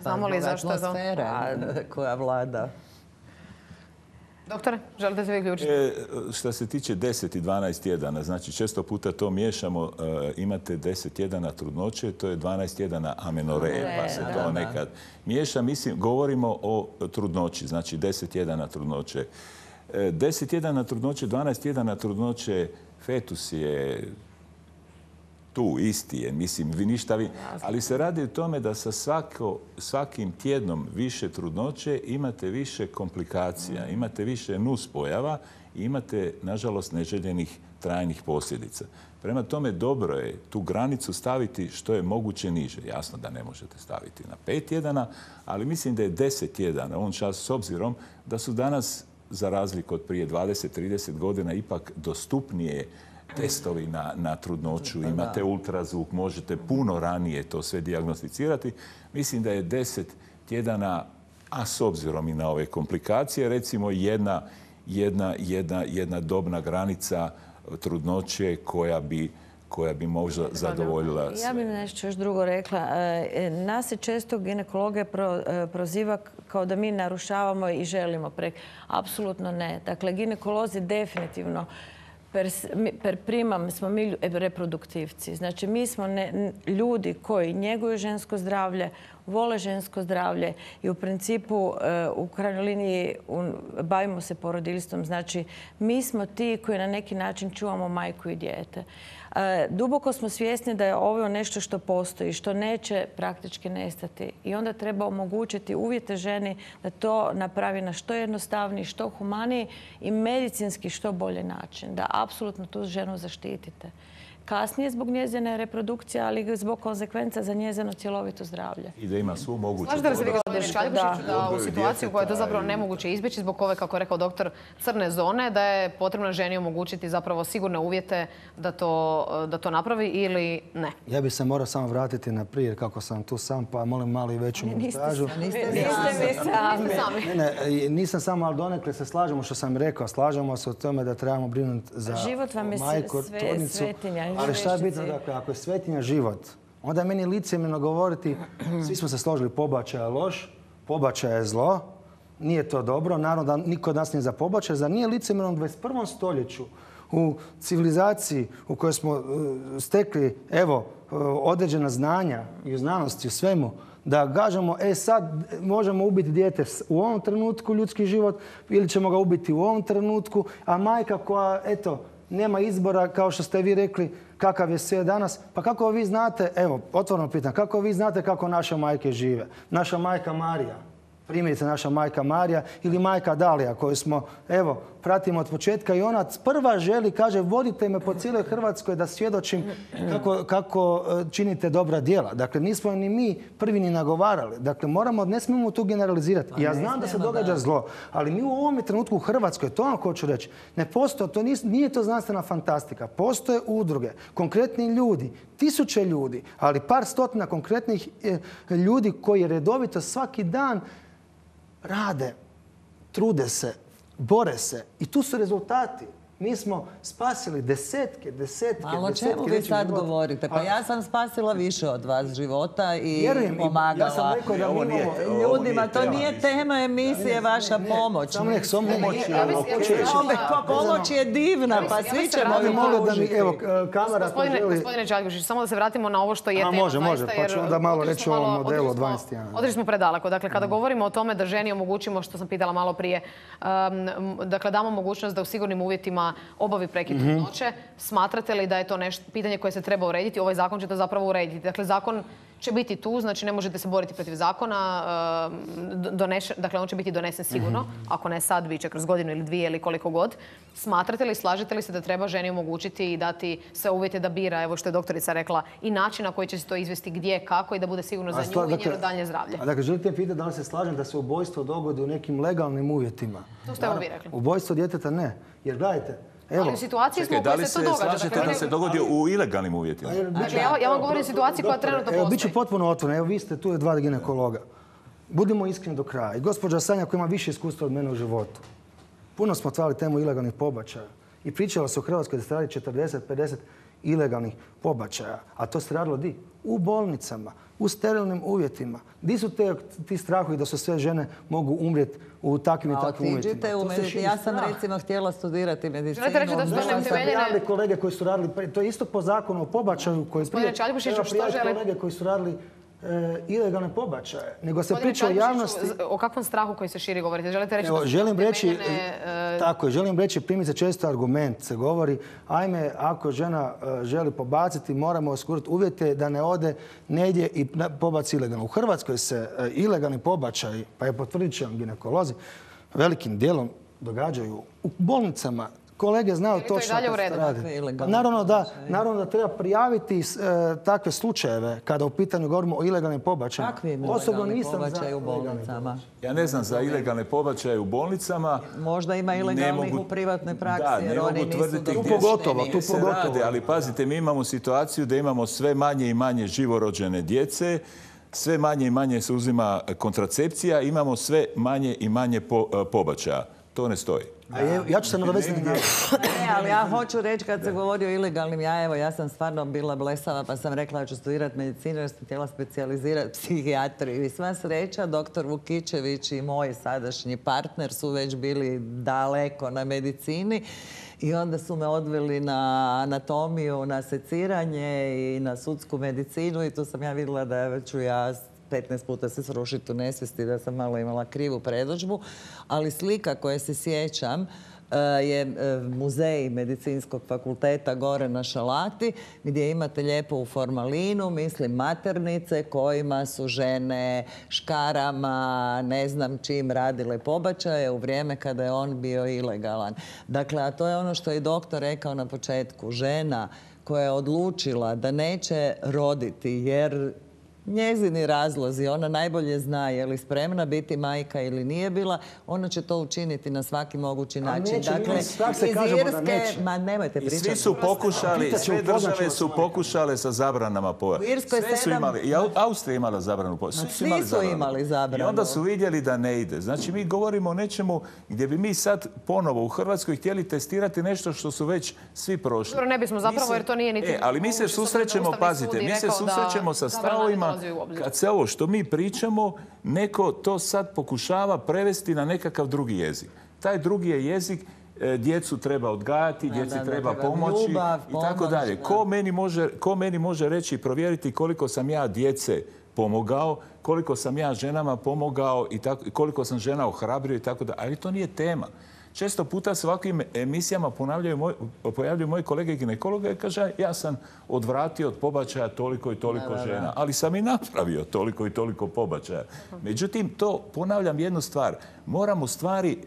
Znamo li zašto je to? Atmosfera koja vlada. Doktore, želite se vi uključiti? Što se tiče 10 i 12 tjedana, znači često puta to miješamo, imate 10 tjedana trudnoće, to je 12 tjedana amenoreje, pa se to nekad miješa. Mislim, govorimo o trudnoći, znači 10 tjedana trudnoće. 10 tjedana trudnoće, 12 tjedana trudnoće, fetus je tu, isti je, mislim, vi ništa ali se radi o tome da sa svakim tjednom više trudnoće imate više komplikacija, imate više nuspojava i imate, nažalost, neželjenih trajnih posljedica. Prema tome, dobro je tu granicu staviti što je moguće niže. Jasno da ne možete staviti na 5 tjedana, ali mislim da je 10 tjedana, on čas s obzirom da su danas, za razliku od prije 20-30 godina, ipak dostupnije testovi na trudnoću, imate ultrazvuk, možete puno ranije to sve dijagnosticirati. Mislim da je 10 tjedana, a s obzirom i na ove komplikacije, recimo jedna dobna granica trudnoće koja bi možda zadovoljila sve. Ja bih nešto još drugo rekla. Nas se često ginekologija proziva kao da mi narušavamo i želimo apsolutno ne. Dakle, ginekolozi definitivno per primam smo mi reproduktivci. Znači, mi smo ljudi koji njeguju žensko zdravlje, vole žensko zdravlje i u principu u krajnjoj liniji bavimo se porodiljstvom. Znači, mi smo ti koji na neki način čuvamo majku i dijete. Duboko smo svjesni da je ovo nešto što postoji, što neće praktički nestati. I onda treba omogućiti uvjete ženi da to napravi na što jednostavniji, što humaniji i medicinski što bolji način. Da apsolutno tu ženu zaštitite. kasnije zbog njezine reprodukcije, ali i zbog konsekvenca za njezino cjelovito zdravlje. I da ima svu moguću Slažete li se vi, gospodine Čaljkušiću, da u odgoju situaciju koja je to djeteta zapravo i- nemoguće izbjeći zbog ove, kako je rekao doktor, crne zone, da je potrebno ženi omogućiti zapravo sigurne uvjete da to napravi ili ne? Ja bih se morao samo vratiti na prije kako sam tu sam, pa molim malo i veću montažu. Niste vi sami. Ne, nisam samo, ali donekle se slažemo što sam rekao. Slažemo se o tome da trebamo brinuti za Život vam je majku, trudnicu. svetinja. Ali šta je bitno, dakle, ako je svetinja život, onda je meni licemjerno govoriti, svi smo se složili, pobačaj je loš, pobačaj je zlo, nije to dobro, naravno da niko od nas nije za pobačaj, zar nije licemjerno u 21. stoljeću, u civilizaciji u kojoj smo stekli, evo, određena znanja i u znanosti, u svemu, da kažemo, sad možemo ubiti dijete u ovom trenutku, ljudski život, ili ćemo ga ubiti u ovom trenutku, a majka koja, eto, nema izbora, kao što ste vi rekli, kakav je sve danas. Pa kako vi znate, evo, otvoreno pitam, kako vi znate kako naše majke žive? Naša majka Marija, primjerice naša majka Marija ili majka Dalija koju smo, evo, pratimo od početka i ona prva želi, kaže, vodite me po cijeloj Hrvatskoj da svjedočim kako činite dobra djela. Dakle, nismo ni mi prvi ni nagovarali. Dakle, ne smijemo tu generalizirati. Ja znam da se događa zlo, ali mi u ovom trenutku u Hrvatskoj, to vam hoću reći, ne postoje, nije to znanstvena fantastika. Postoje udruge, konkretni ljudi, tisuće ljudi, ali par stotina konkretnih ljudi koji redovito svaki dan rade, trude se, bore se i tu su rezultati. Mi smo spasili desetke. Ali o čemu vi sad govorite? Pa ja sam spasila više od vas života i pomagala. Ja sam rekao da mi imamo ljudima. To nije tema emisije vaša pomoć. Pomoć je divna, pa svi ćemo vi pružiti. Evo, kamera ko želi... Gospodine Čaljkušić, samo da se vratimo na ovo što je tema. Može, pa ću onda malo reći o ovom modelu od 12 tjedana. Otišli smo predaleko. Dakle, kada govorimo o tome da ženi omogućimo, što sam pitala malo prije, dakle, damo mogućnost da u sigurnim uvjetima obavi prekid trudnoće, smatrate li da je to nešto, pitanje koje se treba urediti? Ovaj zakon će to zapravo urediti. Dakle, zakon će biti tu, znači ne možete se boriti protiv zakona, dakle on će biti donesen sigurno, ako ne sad, bit će kroz godinu ili dvije ili koliko god. Smatrate li, slažete li se da treba ženi omogućiti i dati sve uvjete da bira, evo što je doktorica rekla, i način na koji će se to izvesti, gdje, kako i da bude sigurno za nju i njeno dalje zdravlje? Dakle, želite pitati da li se slažem da se ubojstvo dogodi u nekim legalnim uvjetima? To ste vi rekli. Ubojstvo djeteta ne, jer gledajte, ali u situaciji smo u kojoj se to događa. Da li se slažete da se dogodi u ilegalnim uvjetima? Dakle, ja vam govorim o situaciji koja trenutno postoji. Evo, bit ću potpuno otvoren. Evo, vi ste tu 2 ginekologa. Budimo iskreni do kraja. I gospođa Sanja koja ima više iskustva od mene u životu. Puno smo otvarali temu ilegalnih pobačaja. I pričalo se u Hrvatskoj da se radi 40-50 ilegalnih pobačaja. A to se radilo di? U bolnicama, u sterilnim uvjetima. Di su ti strahovi da su sve žene mogu umrijeti u takvim i takvim uvjetima? Ja sam recimo htjela studirati medicinu. Želite reći da su to neutemeljene... kolege koji su radili, to je isto po zakonu o pobačaju koji prije... Čaljkušiću, što žele... kolege koji su radili ilegalne pobačaje, nego se priča o javnosti... O kakvom strahu koji se širi govorite? Želite reći želim reći, primjerice često argument se govori, ajme, ako žena želi pobaciti, moramo osigurati uvjete da ne ode negdje i pobaci ilegalno. U Hrvatskoj se ilegalni pobačaji, pa je potvrdit će vam ginekolozi, velikim dijelom događaju u bolnicama. Kolege znaju točno kako se radi. Naravno da treba prijaviti takve slučajeve kada u pitanju govorimo o ilegalnim pobačajima. Osobno nisam za u bolnicama. Ja ne znam za ilegalne pobačaje u bolnicama. Možda ima ilegalnih u privatnoj praksi jer oni nisu tu pogotovo. Ali pazite, mi imamo situaciju da imamo sve manje i manje živorođene djece, sve manje i manje se uzima kontracepcija, imamo sve manje i manje pobačaja. To ne stoji. Ja ću se nadovezati gdje. Ne, ali ja hoću reći kad se govori o ilegalnim, ja sam stvarno bila blesava pa sam rekla da ću studirati medicinu jer sam htjela specijalizirati psihijatriju. I sva sreća, doktor Vukičević i moj sadašnji partner su već bili daleko na medicini i onda su me odveli na anatomiju, na seciranje i na sudsku medicinu i tu sam ja vidjela da ću ja 15 puta se srušiti u nesvijesti, da sam malo imala krivu predodžbu, ali slika koje se sjećam je muzej medicinskog fakulteta gore na Šalati, gdje imate lijepo u formalinu, mislim, maternice kojima su žene škarama, ne znam čim radile pobačaje u vrijeme kada je on bio ilegalan. Dakle, a to je ono što je doktor rekao na početku. Žena koja je odlučila da neće roditi jer njezini razlozi, ona najbolje zna je li spremna biti majka ili nije bila, ona će to učiniti na svaki mogući način. Dakle, iz Irske, ma nemojte I pričati. svi su pokušali, sve države su pokušale sa zabranama pojave. Sve su imali, i Austrija imala zabranu pojave. Svi su imali zabranu. I onda su vidjeli da ne ide. Znači, mi govorimo o nečemu gdje bi mi sad ponovo u Hrvatskoj htjeli testirati nešto što su već svi prošli. Dobro, ne bismo zapravo, jer to nije niti... Ali mi se susrećemo, pazite, mi se susrećemo sa stavovima kad se ovo što mi pričamo, neko to sad pokušava prevesti na nekakav drugi jezik. Taj drugi je jezik, djecu treba odgajati, djeci treba pomoći i tako dalje. Ko meni može reći i provjeriti koliko sam ja djece pomogao, koliko sam ja ženama pomogao i koliko sam žena ohrabrio i tako dalje. Ali to nije tema. Često puta se ovakvim emisijama pojavljuju moji kolege ginekologe i kaže ja sam odvratio od pobačaja toliko i toliko žena, ali sam i napravio toliko i toliko pobačaja. Međutim, to ponavljam jednu stvar. Moramo stvari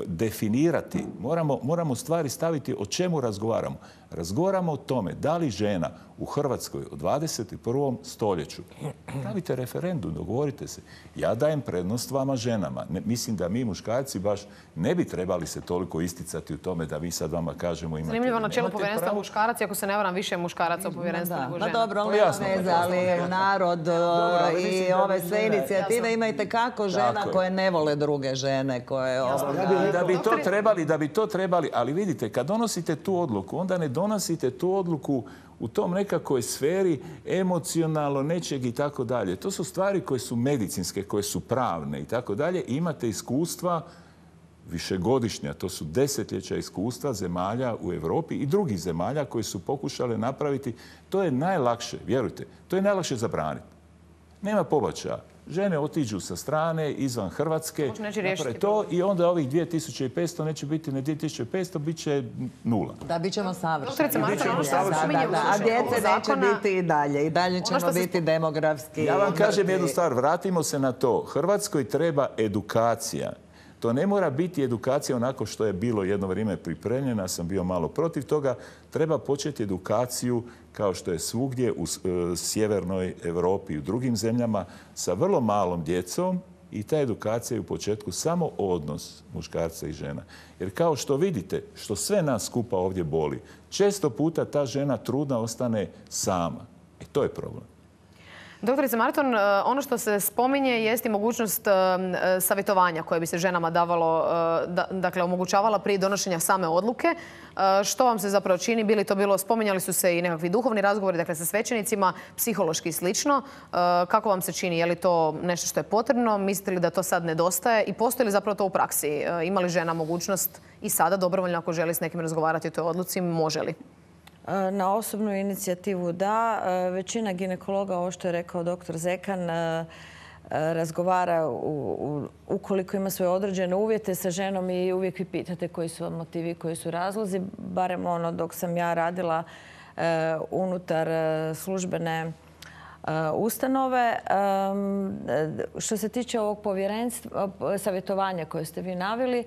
definirati, moramo stvari staviti o čemu razgovaramo. Razgovaramo o tome da li žena u Hrvatskoj u 21. stoljeću, stavite referendum, dogovorite se. Ja dajem prednost vama ženama. Mislim da mi muškarci baš ne bi trebali se toliko isticati u tome da mi sad vama kažemo imate. Zanimljivo na čelu povjerenstva muškarac, ako se ne varam, više muškaraca u povjerenstvu nego žena. Pa dobro, ali nema veze, ali narod i ove sve inicijative imajte kako žena koje ne vole druge žene. Da bi to trebali, ali vidite, kad donosite tu odluku, onda ne donosite tu odluku u tom nekakvoj sferi emocionalno nečeg i tako dalje. To su stvari koje su medicinske, koje su pravne i tako dalje. Imate iskustva višegodišnja, to su desetljeća iskustva zemalja u Europi i drugih zemalja koji su pokušale napraviti. To je najlakše, vjerujte, to je najlakše zabraniti. Nema pobačaja. Žene otiđu sa strane, izvan Hrvatske, naprave to i onda ovih 2500 neće biti ne 2500, bit će 0. Da, bit ćemo savršeni. A djece neće biti i dalje. I dalje ćemo biti demografski. Ja vam kažem jednu stvar, vratimo se na to. Hrvatskoj treba edukacija. To ne mora biti edukacija onako što je bilo jedno vrijeme pripremljena, sam bio malo protiv toga. Treba početi edukaciju kao što je svugdje u sjevernoj Europi i u drugim zemljama sa vrlo malom djecom i ta edukacija je u početku samo odnos muškarca i žena. Jer kao što vidite, što sve nas skupa ovdje boli, često puta ta žena trudna ostane sama. I to je problem. Doktorice Marton, ono što se spominje jest i mogućnost savjetovanja koje bi se ženama davalo, dakle omogućavala prije donošenja same odluke. Što vam se zapravo čini? Spominjali su se i nekakvi duhovni razgovori, dakle sa svećenicima, psihološki i slično. Kako vam se čini? Je li to nešto što je potrebno? Mislite li da to sad nedostaje? I postoji li zapravo to u praksi? Ima li žena mogućnost i sada dobrovoljno ako želi s nekim razgovarati o toj odluci? Može li? Na osobnu inicijativu da. Većina ginekologa, ovo što je rekao dr. Zekan, razgovara ukoliko ima svoje određene uvjete sa ženom i uvijek vi pitate koji su vam motivi, koji su razlozi. Barem ono dok sam ja radila unutar službene ustanove. Što se tiče ovog povjerenstva, savjetovanja koje ste vi naveli,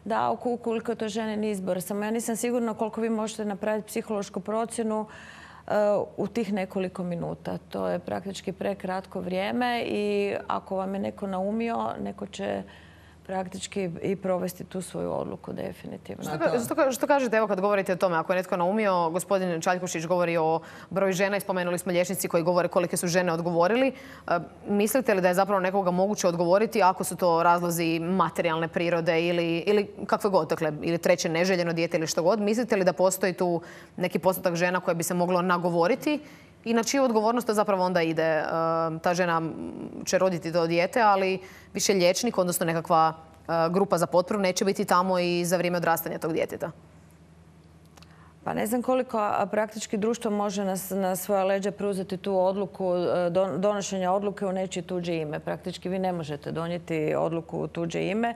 da, ukoliko to ženin izbor. Samo ja nisam sigurna koliko vi možete napraviti psihološku procjenu u tih nekoliko minuta. To je praktički prekratko vrijeme i ako vam je neko naumio, neko će praktički i provesti tu svoju odluku definitivno. Što kažete, evo kad govorite o tome, ako je netko naumio, gospodin Čaljkušić govori o broju žena i spomenuli smo liječnici koji govore kolike su žene odgovorili. Mislite li da je zapravo nekoga moguće odgovoriti ako su to razlozi materijalne prirode ili kakve god, dakle, ili treće neželjeno dijete ili što god? Mislite li da postoji tu neki postotak žena koje bi se moglo nagovoriti i na čiju odgovornost to zapravo onda ide? Ta žena će roditi to dijete, ali više liječnik, odnosno nekakva grupa za potporu neće biti tamo i za vrijeme odrastanja tog djeteta. Pa ne znam koliko praktički društvo može na svoja leđa preuzeti tu odluku, donošenja odluke u nečije tuđe ime. Praktički vi ne možete donijeti odluku u tuđe ime.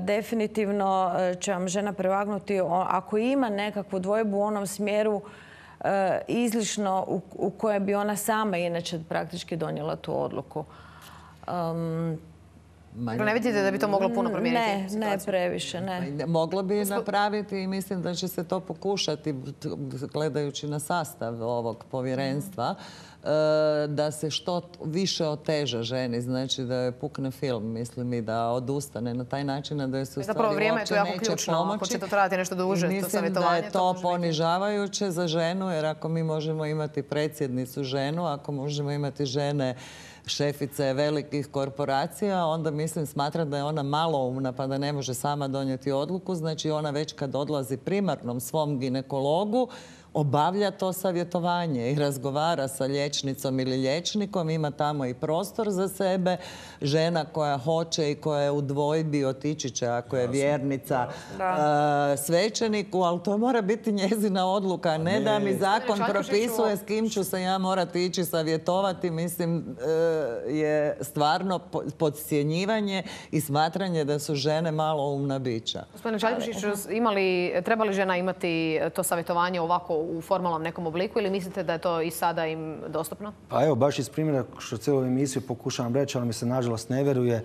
Definitivno će vam žena prevagnuti ako ima nekakvu dvojbu u onom smjeru izlišno u koje bi ona sama inače praktički donijela tu odluku. Ne vidite da bi to moglo puno promijeniti? Ne previše, ne. Moglo bi napraviti i mislim da će se to pokušati, gledajući na sastav ovog povjerenstva, da se što više oteža ženi, znači da je pukne film, mislim, i da odustane na taj način, da se u stvari uopće neće pomoći. Ako će to trajati nešto duže, to mislim savjetovanje. da je to ponižavajuće za ženu, jer ako mi možemo imati predsjednicu ženu, ako možemo imati žene šefice velikih korporacija, onda mislim smatra da je ona maloumna pa da ne može sama donijeti odluku. Znači ona već kad odlazi primarnom svom ginekologu obavlja to savjetovanje i razgovara sa liječnicom ili liječnikom, ima tamo i prostor za sebe. Žena koja hoće i koja je u dvojbi otići će ako je vjernica svećeniku, ali to mora biti njezina odluka, ne da mi zakon propisuje s kim ću se ja morati ići savjetovati. Mislim, je stvarno podcjenjivanje i smatranje da su žene maloumna bića. Gospodine Čaljkušiću, treba li žena imati to savjetovanje ovako u formalnom nekom obliku ili mislite da je to i sada im dostupno? Pa evo, baš iz primjera što cijelu emisiju pokušavam reći, ali mi se nažalost ne veruje,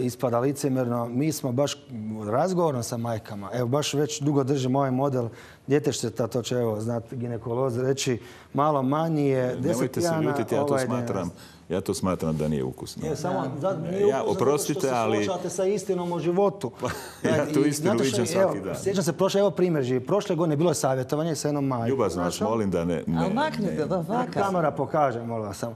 ispada licemjerno. Mi smo baš razgovorom sa majkama, evo baš već dugo držimo ovaj model djetešteta, to će evo znati ginekolozi reći, malo manji je 10 tjedana. Nemojte se ljutiti, ja to smatram da nije ukusno. Nije ukusno oprostite, ali... što se slušate sa istinom o životu. Ja tu istinu viđam svaki dan. Sjećam se, evo primjer živi. Prošle godine bilo je savjetovanje sa jednom majkom. Ljubazno vas molim da ne... Ali maknite do faka. Kamera pokaže, molim vas samo.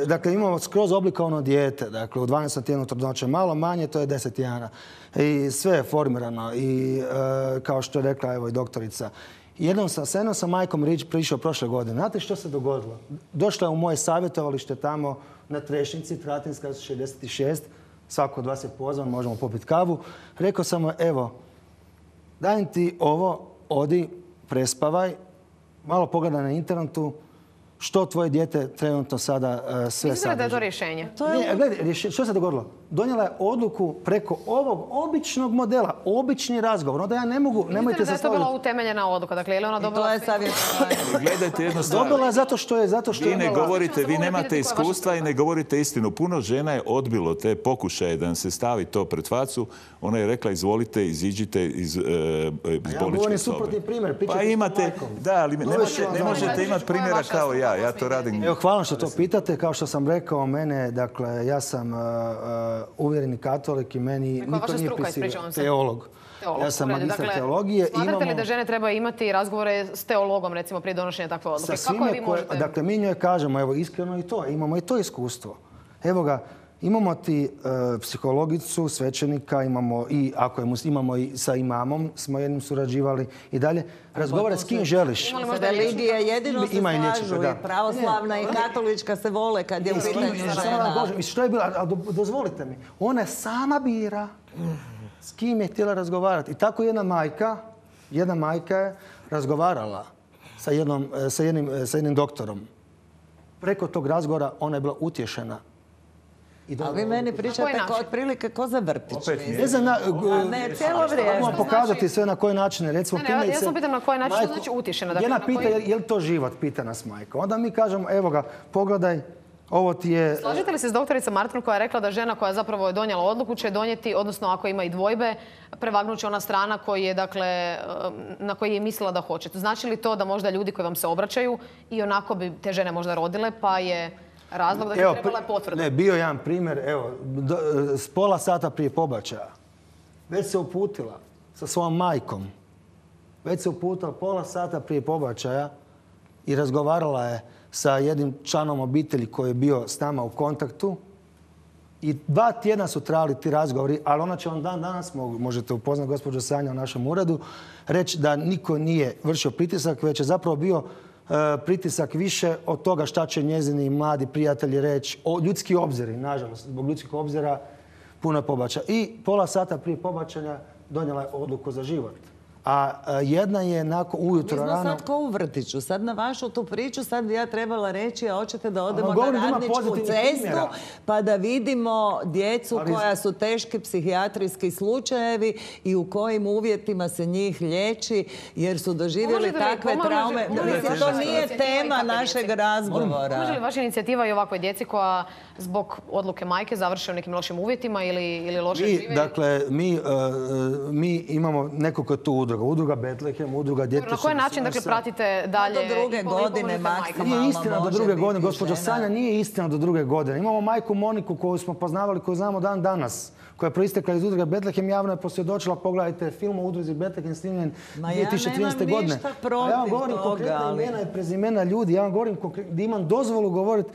Dakle, imamo skroz oblikovano dijete. Dakle, u 12. tjednu trudnoće. Malo manje, to je 10 tjedana. I sve je formirano. I kao što je rekla evo i doktorica, s jednom sam majkom prišao prošle godine. Znate što se dogodilo? Došla je u moje savjetovalište tamo na Trešnici, Tratinska 66. Svako od vas je pozvan, možemo popiti kavu. Rekao sam mu, evo, dajem ti ovo, odi, prespavaj, malo pogledaj na internetu, što tvoje dijete trenutno sada sve sadrži. Mislite da je to rješenje? Gledaj, što se dogodilo? Donijela je odluku preko ovog običnog modela, obični razgovor. Onda ja ne mogu, nemojte se složiti. Mislite da je to bila utemeljena odluka? Dakle, je li ona dobila... To je savjetovanje. Gledajte jedno stvar. Dobila zato što je... Vi ne govorite, vi nemate iskustva i ne govorite istinu. Puno žena je odbilo te pokušaje da nam se stavi to pred facu. Ona je rekla, izvolite, iziđite iz bolničke sobe. Ja govorim suprotni primjer. Pa imate, da, ali ne možete imati primjera kao ja. Ja to radim. Evo, hvala što to pitate. Kao što sam rekao, mene, dakle, ja sam uvjereni katolik i meni niko nije prisilio. Teolog. Ja sam magistar teologije. Smatrate li da žene trebaju imati razgovore s teologom, recimo, prije donošenja takve odluke? Kako vi možete... Dakle, mi njoj kažemo, evo, iskreno i to, imamo i to iskustvo. Evo ga, imamo ti psihologicu, svećenika, imamo i sa imamom, smo jednim surađivali i dalje. Razgovara s kim želiš. Religije jedino se slažu i pravoslavna i katolička se vole kad je u pitanju žena. Što je bilo? Dozvolite mi. Ona sama bira s kim je htjela razgovarati. I tako jedna majka je razgovarala sa jednim doktorom. Preko tog razgovora ona je bila utješena. A vi meni pričate otprilike ko za vrtić. Ne, cijelo vrijeme. Mogu pokazati sve na koji način. Ja sam pitam na koji način, što znači utješena? Jedna pita je li to život, pita nas majka. Onda mi kažemo, evo ga, pogledaj, ovo ti je... Slažete li se s doktoricom Martin koja je rekla da žena koja zapravo je donijela odluku će donijeti, odnosno ako ima i dvojbe, prevagnuće ona strana na koji je mislila da hoće. Znači li to da možda ljudi koji vam se obraćaju i onako bi te žene možda rodile, pa je razlog da je trebala potvrda? Ne, bio jedan primjer, evo, s pola sata prije pobačaja. Već se uputila sa svojom majkom. Već se uputila pola sata prije pobačaja i razgovarala je sa jednim članom obitelji koji je bio s nama u kontaktu. I 2 tjedna su trajali ti razgovori, ali ona će vam danas, možete upoznati gospođu Sanja u našem uredu, reći da niko nije vršio pritisak, već je zapravo bio pritisak više od toga šta će njezini mladi prijatelji reći. Ljudski obziri, nažalost, zbog ljudskih obzira puno pobačaja. I pola sata prije pobačanja donijela je odluku za život. A jedna je nakon ujutro rano... Mi smo rano... sad ko u vrtiću. Sad na vašu tu priču sad bi ja trebala reći, a hoćete da odemo govorim na Radničku cestu primjera. pa da vidimo djecu koja su teški psihijatrijski slučajevi i u kojim uvjetima se njih liječi jer su doživjeli takve traume. To nije tema našeg razgovora. Može li vaša inicijativa i ovakvoj djeci koja zbog odluke majke završe u nekim lošim uvjetima ili loše žive? Dakle, mi imamo nekoliko tu udruga. Udruga Betlehem, udruga Djete... Na koji način pratite dalje? Do druge godine maksimalno. Nije istina do druge godine, gospođo Sanja, nije istina do druge godine. Imamo majku Moniku koju smo poznavali, koju znamo dan danas, koja je proistekla iz udruge Betlehem, javno je posvjedočila, pogledajte film o udruzi Betlehem snimljen 2013. godine. Ništa protiv ja vam govorim konkretna imena i prezimena ljudi, ja vam govorim da imam dozvolu govoriti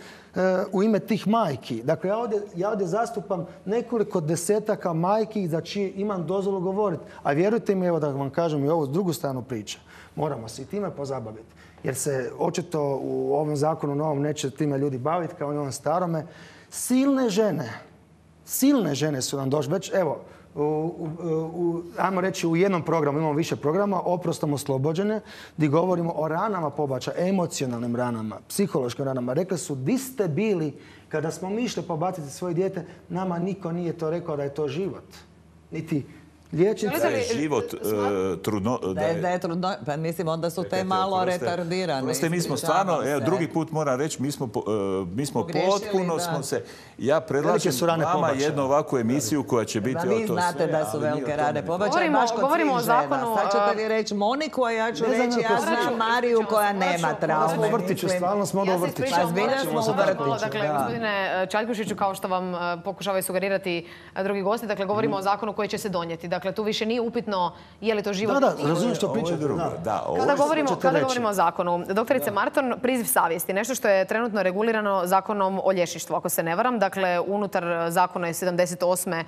u ime tih majki. Dakle, ja ovdje zastupam nekoliko desetaka majki za čije imam dozvolu govoriti. A vjerujte mi, evo da vam kažem i ovu drugu stranu priče, moramo se i time pozabaviti. Jer se očito u ovom zakonu novom neće time ljudi baviti kao i ovom starome. Silne žene su nam došle. Već, evo, ajmo reći u jednom programu, imamo više programa, Oprostom oslobođene, gdje govorimo o ranama pobačaja, emocionalnim ranama, psihološkim ranama. Rekli su, di ste bili kada smo mi išli pobaciti svoje dijete, nama niko nije to rekao da je to život. Niti liječnici. Da je život trudno... Da je trudno... Pa mislim, onda su te malo retardirane. Proste, mi smo stvarno, drugi put moram reći, mi smo potpuno smo se... Ja predlažem vama jednu ovakvu emisiju koja će biti o to sve. Vi znate da su velike rane pobačaje, baš kod svih žena. Sad ćete vi reći Moniku, a ja ću reći ja znam Mariju koja nema traume. Smo u vrtiću, stvarno smo u vrtiću. Pa zbilja smo u vrtiću. Dakle, gospodine Čaljkušiću, kao što vam pokušavaju sugerirati drugi gosti, dakle, govorimo o zakonu koji će se donijeti. Dakle, tu više nije upitno je li to život... Da, razumijem što pričate. Kada govorimo o zakonu, doktorice Marton, priziv savjesti, nešto što je trenutno regulirano zakonom o liječništvu, ako se ne varam. Dakle, unutar zakona iz 78.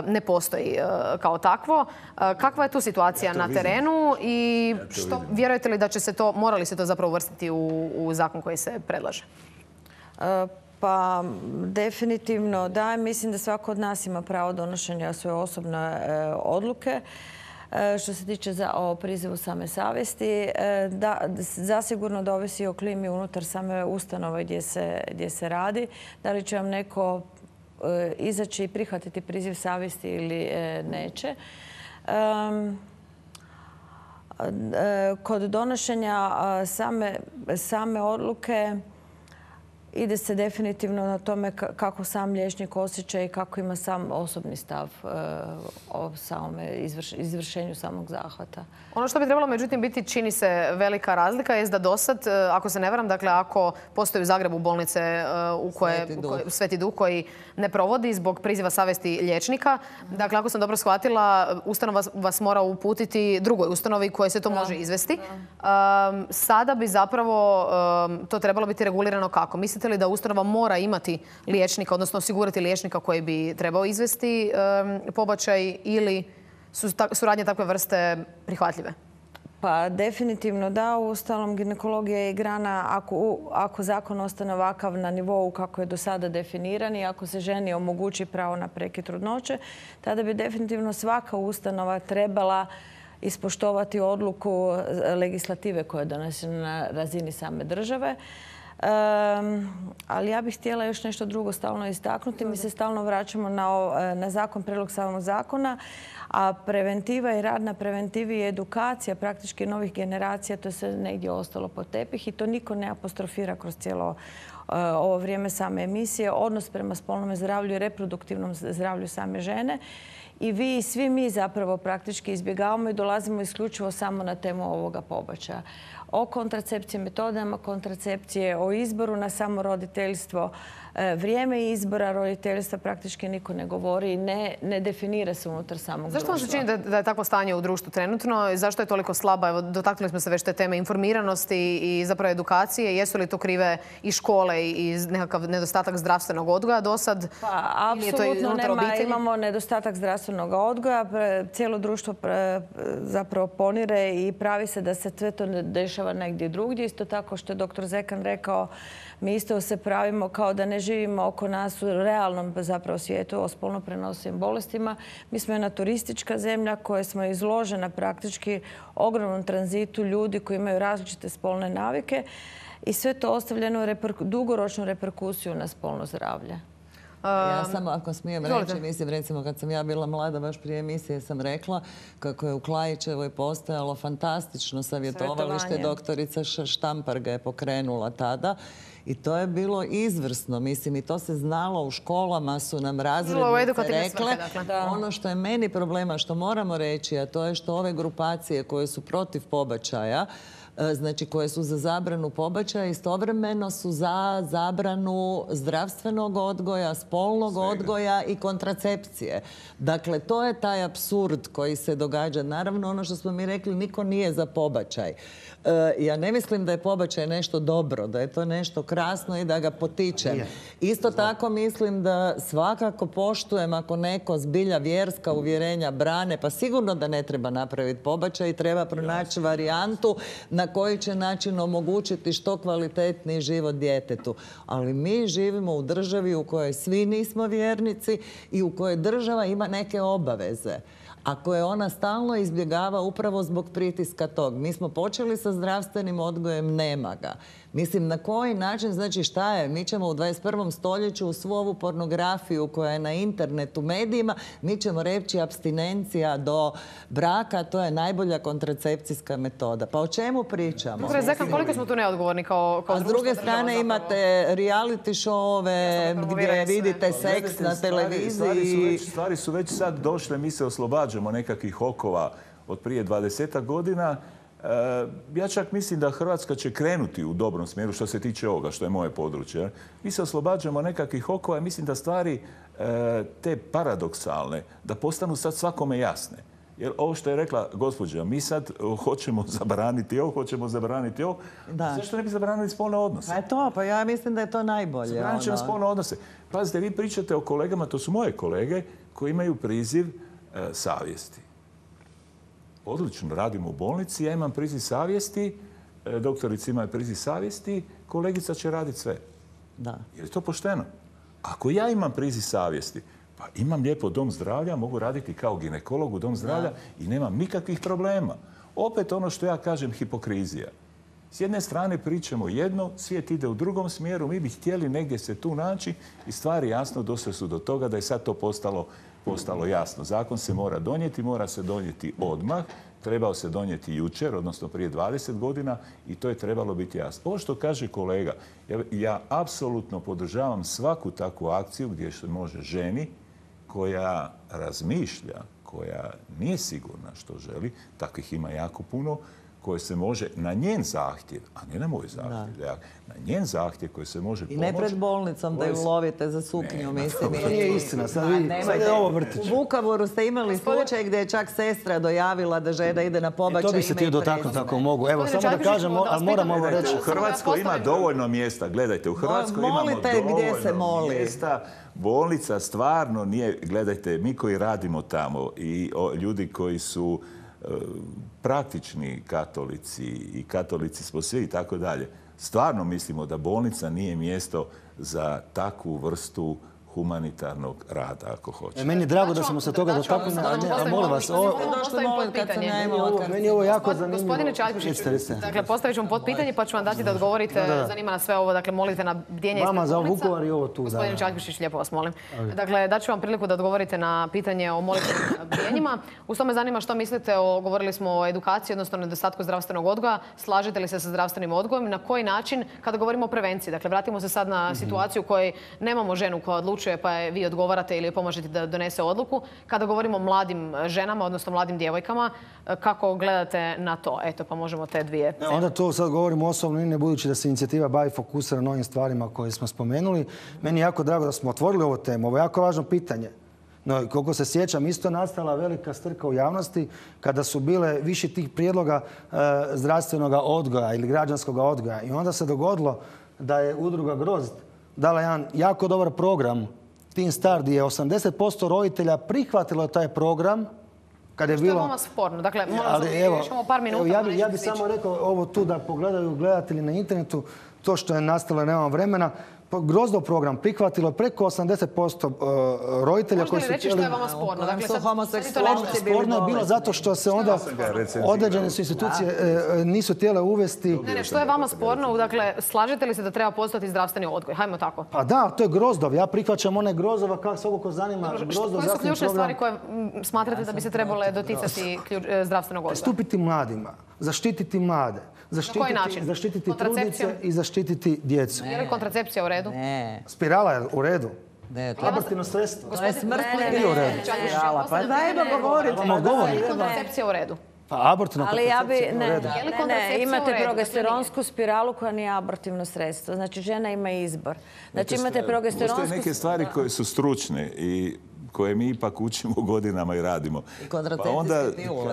ne postoji kao takvo. Kakva je tu situacija na terenu i što vjerujete li da će se to, mora li se to zapravo uvrstiti u zakon koji se predlaže? Pa definitivno da. Mislim da svako od nas ima pravo donošenja svoje osobne odluke. Što se tiče o prizivu same savjesti, zasigurno da ovisi o klimi unutar same ustanove gdje se radi. Da li će vam neko izaći i prihvatiti priziv savjesti ili neće. Kod donošenja same odluke ide se definitivno na tome kako sam liječnik osjeća i kako ima sam osobni stav o samome izvršenju samog zahvata. Ono što bi trebalo, međutim, biti, čini se, velika razlika je da dosad, ako se ne varam, dakle, ako postoji u Zagrebu bolnice u koje Sveti Duh koji ne provodi zbog priziva savjesti liječnika, dakle, ako sam dobro shvatila, ustanova vas mora uputiti drugoj ustanovi koje se to može izvesti. Sada bi zapravo to trebalo biti regulirano kako? Mislite li da ustanova mora imati liječnika, odnosno osigurati liječnika koji bi trebao izvesti pobačaj ili su radnje takve vrste prihvatljive? Pa definitivno da. Uostalom, ginekologija je grana, ako zakon ostane ovakav na nivou kako je do sada definiran i ako se ženi omogući pravo na prekid trudnoće, tada bi definitivno svaka ustanova trebala ispoštovati odluku legislative koja je donesena na razini same države. Ali ja bih htjela još nešto drugo stalno istaknuti. Mi se stalno vraćamo na zakon, prijedlog samog zakona, a preventiva i rad na preventivi i edukacija praktički novih generacija, to je sve negdje ostalo pod tepih i to niko ne apostrofira kroz cijelo ovo vrijeme same emisije. Odnos prema spolnom zdravlju i reproduktivnom zdravlju same žene. I vi i svi mi zapravo praktički izbjegavamo i dolazimo isključivo samo na temu ovoga pobačaja. O kontracepciji, metodama kontracepcije, o izboru na samo roditeljstvo, vrijeme izbora roditeljstva praktički niko ne govori i ne definira se unutar samog društva. Zašto vam se čini da je takvo stanje u društvu trenutno? Zašto je toliko slaba? Evo, dotaknuli smo se već te teme informiranosti i zapravo edukacije. Jesu li to krive i škole i nekakav nedostatak zdravstvenog odgoja do sad? Pa, apsolutno nema. Imamo nedostatak zdravstvenog zdravstvenog odgoja. Cijelo društvo zapravo ponire i pravi se da se sve to ne dešava negdje drugdje. Isto tako što je dr. Zekan rekao, mi isto se pravimo kao da ne živimo oko nas u realnom zapravo svijetu o spolno prenosivim bolestima. Mi smo jedna turistička zemlja koja smo izložena praktički ogromnom tranzitu ljudi koji imaju različite spolne navike i sve to ostavljeno dugoročnu reperkusiju na spolno zdravlje. Ja samo, ako smijem reći, mislim, recimo kad sam ja bila mlada, baš prije emisije sam rekla kako je u Klajićevoj postojalo fantastično savjetovalište. Doktorica Štampar ga je pokrenula tada. I to je bilo izvrsno, mislim, i to se znalo u školama, su nam razrednice rekle. Ono što je meni problema, što moramo reći, a to je što ove grupacije koje su protiv pobačaja, znači koje su za zabranu pobačaja, istovremeno su za zabranu zdravstvenog odgoja, spolnog odgoja i kontracepcije. Dakle, to je taj apsurd koji se događa. Naravno, ono što smo mi rekli, niko nije za pobačaj. Ja ne mislim da je pobačaj nešto dobro, da je to nešto krasno i da ga potičem. Isto tako mislim da svakako poštujem ako neko zbilja vjerska uvjerenja brane, pa sigurno da ne treba napraviti pobačaj i treba pronaći varijantu na koji će način omogućiti što kvalitetniji život djetetu. Ali mi živimo u državi u kojoj svi nismo vjernici i u kojoj država ima neke obaveze. A koje ona stalno izbjegava upravo zbog pritiska tog. Mi smo počeli sa zdravstvenim odgojem, nema ga. Mislim, na koji način, znači šta je? Mi ćemo u 21. stoljeću u svu ovu pornografiju koja je na internetu, medijima, mi ćemo reći abstinencija do braka, to je najbolja kontracepcijska metoda. Pa o čemu pričamo? Koliko smo tu neodgovorni kao društvo? A s druge strane imate reality showove gdje vidite seks na televiziji. Stvari su već sad došle, mi se oslobađamo nekakvih okova od prije 20 godina. Ja čak mislim da Hrvatska će krenuti u dobrom smjeru što se tiče ovoga, što je moje područje. Mi se oslobađamo nekakvih okova i mislim da stvari te paradoksalne, da postanu sad svakome jasne. Jer ovo što je rekla gospođa, mi sad hoćemo zabraniti ovo, hoćemo zabraniti ovo. Zašto ne bi zabranili spolne odnose? Pa ja mislim da je to najbolje. Zabranit ćemo spolne odnose. Pazite, vi pričate o kolegama, to su moje kolege, koji imaju priziv savjesti. Odlično, radimo u bolnici, ja imam priziv savjesti, doktorica ima priziv savjesti, kolegica će raditi sve. Je li to pošteno? Ako ja imam priziv savjesti, pa imam lijepo dom zdravlja, mogu raditi kao ginekolog u dom zdravlja i nemam nikakvih problema. Opet ono što ja kažem, hipokrizija. S jedne strane pričamo jedno, svijet ide u drugom smjeru, mi bi htjeli negdje se tu naći i stvari jasno došle su do toga da je sad to postalo jasno. Zakon se mora se donijeti odmah, trebao se donijeti jučer, odnosno prije 20 godina i to je trebalo biti jasno. Ovo što kaže kolega, ja apsolutno podržavam svaku takvu akciju gdje se može ženi koja razmišlja, koja nije sigurna što želi, takvih ima jako puno, koje se može na njen zahtjev, a ne na moj zahtjev, na njen zahtjev koji se može pomoći. I ne pred bolnicom da ju lovite za suknju, mislim. To nije istina, sad je ovo vrtić. U Vukovaru ste imali slučaj gdje je čak sestra dojavila da žena ide na pobačaj. To bi se htio dotaknuti ako mogu. Evo, samo da kažem, ali moram ovo reći. U Hrvatskoj ima dovoljno mjesta, gledajte, u Hrvatskoj imamo dovoljno mjesta. Bolnica stvarno nije, gledajte, mi koji radimo tamo i ljudi koji su praktični katolici i katolici smo svi i tako dalje. Stvarno mislimo da bolnica nije mjesto za takvu vrstu humanitarnog rada, ako hoće. Meni je drago da smo se toga dotaknuli, a molim vas, meni je ovo jako zanimljivo. Gospodine Čaljkušić, dakle, postavit ću vam potpitanje pa ću vam dati da odgovorite. Zanima nas sve ovo, dakle, molite na bdjenje ispred bolnica. Vama za Vukovar i ovo tu. Gospodine Čaljkušić, lijepo vas molim. Dakle, daću vam priliku da odgovorite na pitanje o molitvenim bdjenjima. Uz to me zanima što mislite govorili smo o edukaciji, odnosno nedostatku zdravstvenog odgoja. Slažete li se sa zdravstvenim odgojem? Na koji način, kada govorimo o prevenciji? Dakle, vratimo se sad na situaciju u kojoj nemamo ženu koja odlučuje pa je vi odgovarate ili pomažete da donese odluku. Kada govorimo o mladim ženama, odnosno mladim djevojkama, kako gledate na to? Eto, pa možemo te dvije. Onda to sad govorim osobno i ne budući da se inicijativa bavi fokusira na ovim stvarima koje smo spomenuli. Meni je jako drago da smo otvorili ovu temu. Ovo je jako važno pitanje. No, koliko se sjećam, isto nastala velika strka u javnosti kada su bile više tih prijedloga zdravstvenog odgoja ili građanskog odgoja. I onda se dogodilo da je udruga Grozd dala jedan jako dobar program Teen Start, je 80% roditelja prihvatilo taj program kad je bilo... Što je vama sporno? Dakle, još imamo par minuta. Ja bih samo rekao ovo tu da pogledaju gledatelji na internetu, to što je nastalo, nemam vremena. Grozdov program prihvatilo je preko 80% roditelja koji su htjeli... Možete li reći što je vama sporno? Dakle, sporno je bilo zato što se onda određene su institucije nisu htjele uvesti... Ne, što je vama sporno? Dakle, slažete li se da treba postojati zdravstveni odgoj? Hajmo tako. Pa da, to je Grozdov. Ja prihvaćam one Grozdova kako svako ko zanima. Koje su ključne stvari koje smatrate da bi se trebale doticati zdravstvenog odgoja? Stupiti mladima, zaštititi mlade. Zaštititi trudnice i zaštititi djecu. Je li kontracepcija u redu? Ne. Spirala je u redu. Ne, abortivno sredstvo. To je smrtno u redu. Pa dajmo govoriti. Je li kontracepcija u redu? Pa abortivna kontracepcija u redu. Ne, imate progesteronsku spiralu koja nije abortivno sredstvo. Znači, žena ima izbor. Znači, imate progesteronsku... Postoje neke stvari koje su stručne i koje mi ipak učimo godinama i radimo. Pa onda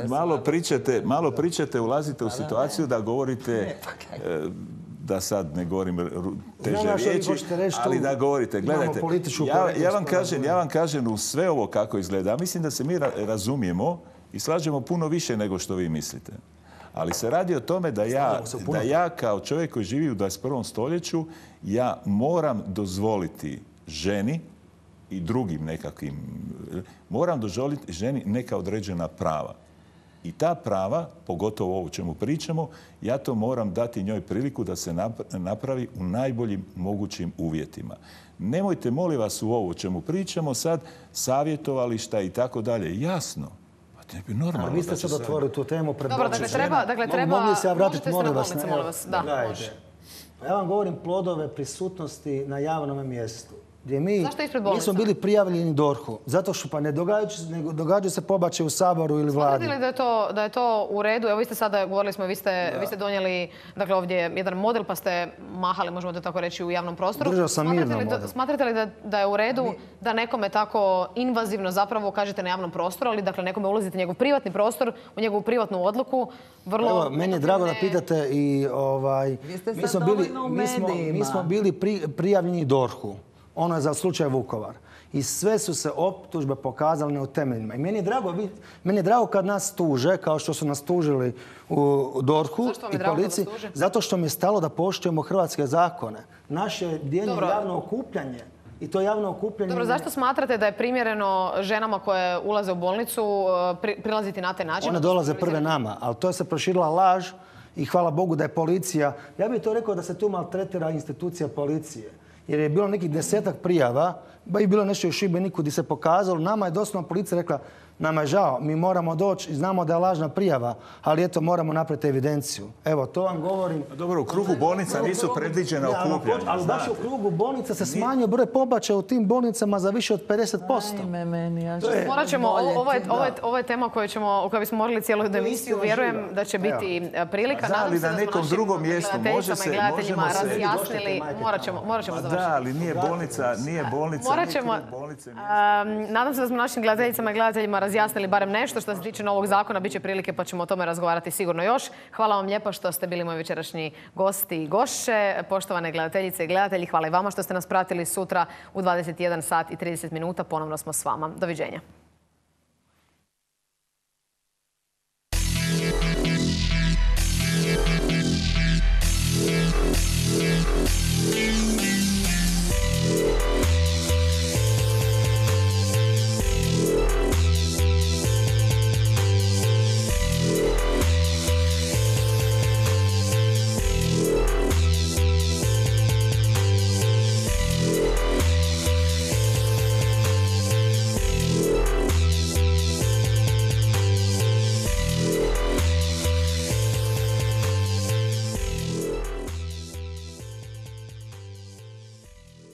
malo pričate, ulazite u situaciju da govorite, da sad ne govorim teže riječi, ali da govorite. Gledajte, ja vam kažem u sve ovo kako izgleda. Mislim da se mi razumijemo i slažemo puno više nego što vi mislite. Ali se radi o tome da ja kao čovjek koji živi u 21. stoljeću, ja moram dozvoliti ženi i drugim nekakvim, moram dozvoliti ženi neka određena prava. I ta prava, pogotovo ovo o čemu pričamo, ja to moram dati njoj priliku da se napravi u najboljim mogućim uvjetima. Nemojte, molim vas, u ovo o čemu pričamo sad, savjetovališta i tako dalje. Jasno. Ali vi ste sad otvorili tu temu pred Dobro, dakle treba... Mogli se ja vratiti, molim vas. Da, ja vam govorim plodove prisutnosti na javnom mjestu. Gdje mi nismo bili prijavljeni DORH-u. Zato što pa ne događaju se pobačaje u Saboru ili Vladi. Smatrate li da je to u redu? Evo vi ste sada, govorili smo, vi ste donijeli ovdje jedan model pa ste mahali, možemo to tako reći, u javnom prostoru. Držao sam mirno model. Smatrate li da je u redu da nekome tako invazivno zapravo kažete na javnom prostoru, ali dakle nekome ulazite u njegov privatni prostor, u njegovu privatnu odluku? Evo, meni je drago da pitate i mi smo bili prijavljeni DORH-u. Ono je za slučaj Vukovar. I sve su se optužbe pokazale neutemeljnima. I meni je drago kad nas tuže, kao što su nas tužili u DORH-u i policiji, zato što mi je stalo da poštujemo hrvatske zakone. Naše djelje je javno okupljanje. I to javno okupljanje... Dobro, zašto smatrate da je primjereno ženama koje ulaze u bolnicu prilaziti na taj način? One dolaze prve nama, ali to je se proširila laž i hvala Bogu da je policija... Ja bih to rekao da se tu maltretira institucija policije. Jer je bilo nekih 10-ak prijava, ba i bilo nešto u Šibeniku gdje se pokazalo. Nama je doslovno policija rekla, nama je žao, mi moramo doći i znamo da je lažna prijava, ali eto moramo napraviti evidenciju. Evo, to vam govorim. Dobro, u krugu bolnica nisu predviđena okupljanja. Ali baš u krugu bolnica se smanjio broj pobačaja u tim bolnicama za više od 50%. Morat ćemo, ovo je tema o kojoj bismo morali cijelu emisiju. Vjerujem da će biti prilika. Ali na nekom drugom mjestu možemo se... Morat ćemo završiti. Da, ali nije bolnica. Nadam se da smo našim gledateljicama i gledateljima razjasnili barem nešto što se tiče novog zakona. Biće prilike pa ćemo o tome razgovarati sigurno još. Hvala vam lijepo što ste bili moji večerašnji gosti i gošće. Poštovane gledateljice i gledatelji, hvala i vama što ste nas pratili. Sutra u 21 sat i 30 minuta ponovno smo s vama. Doviđenja.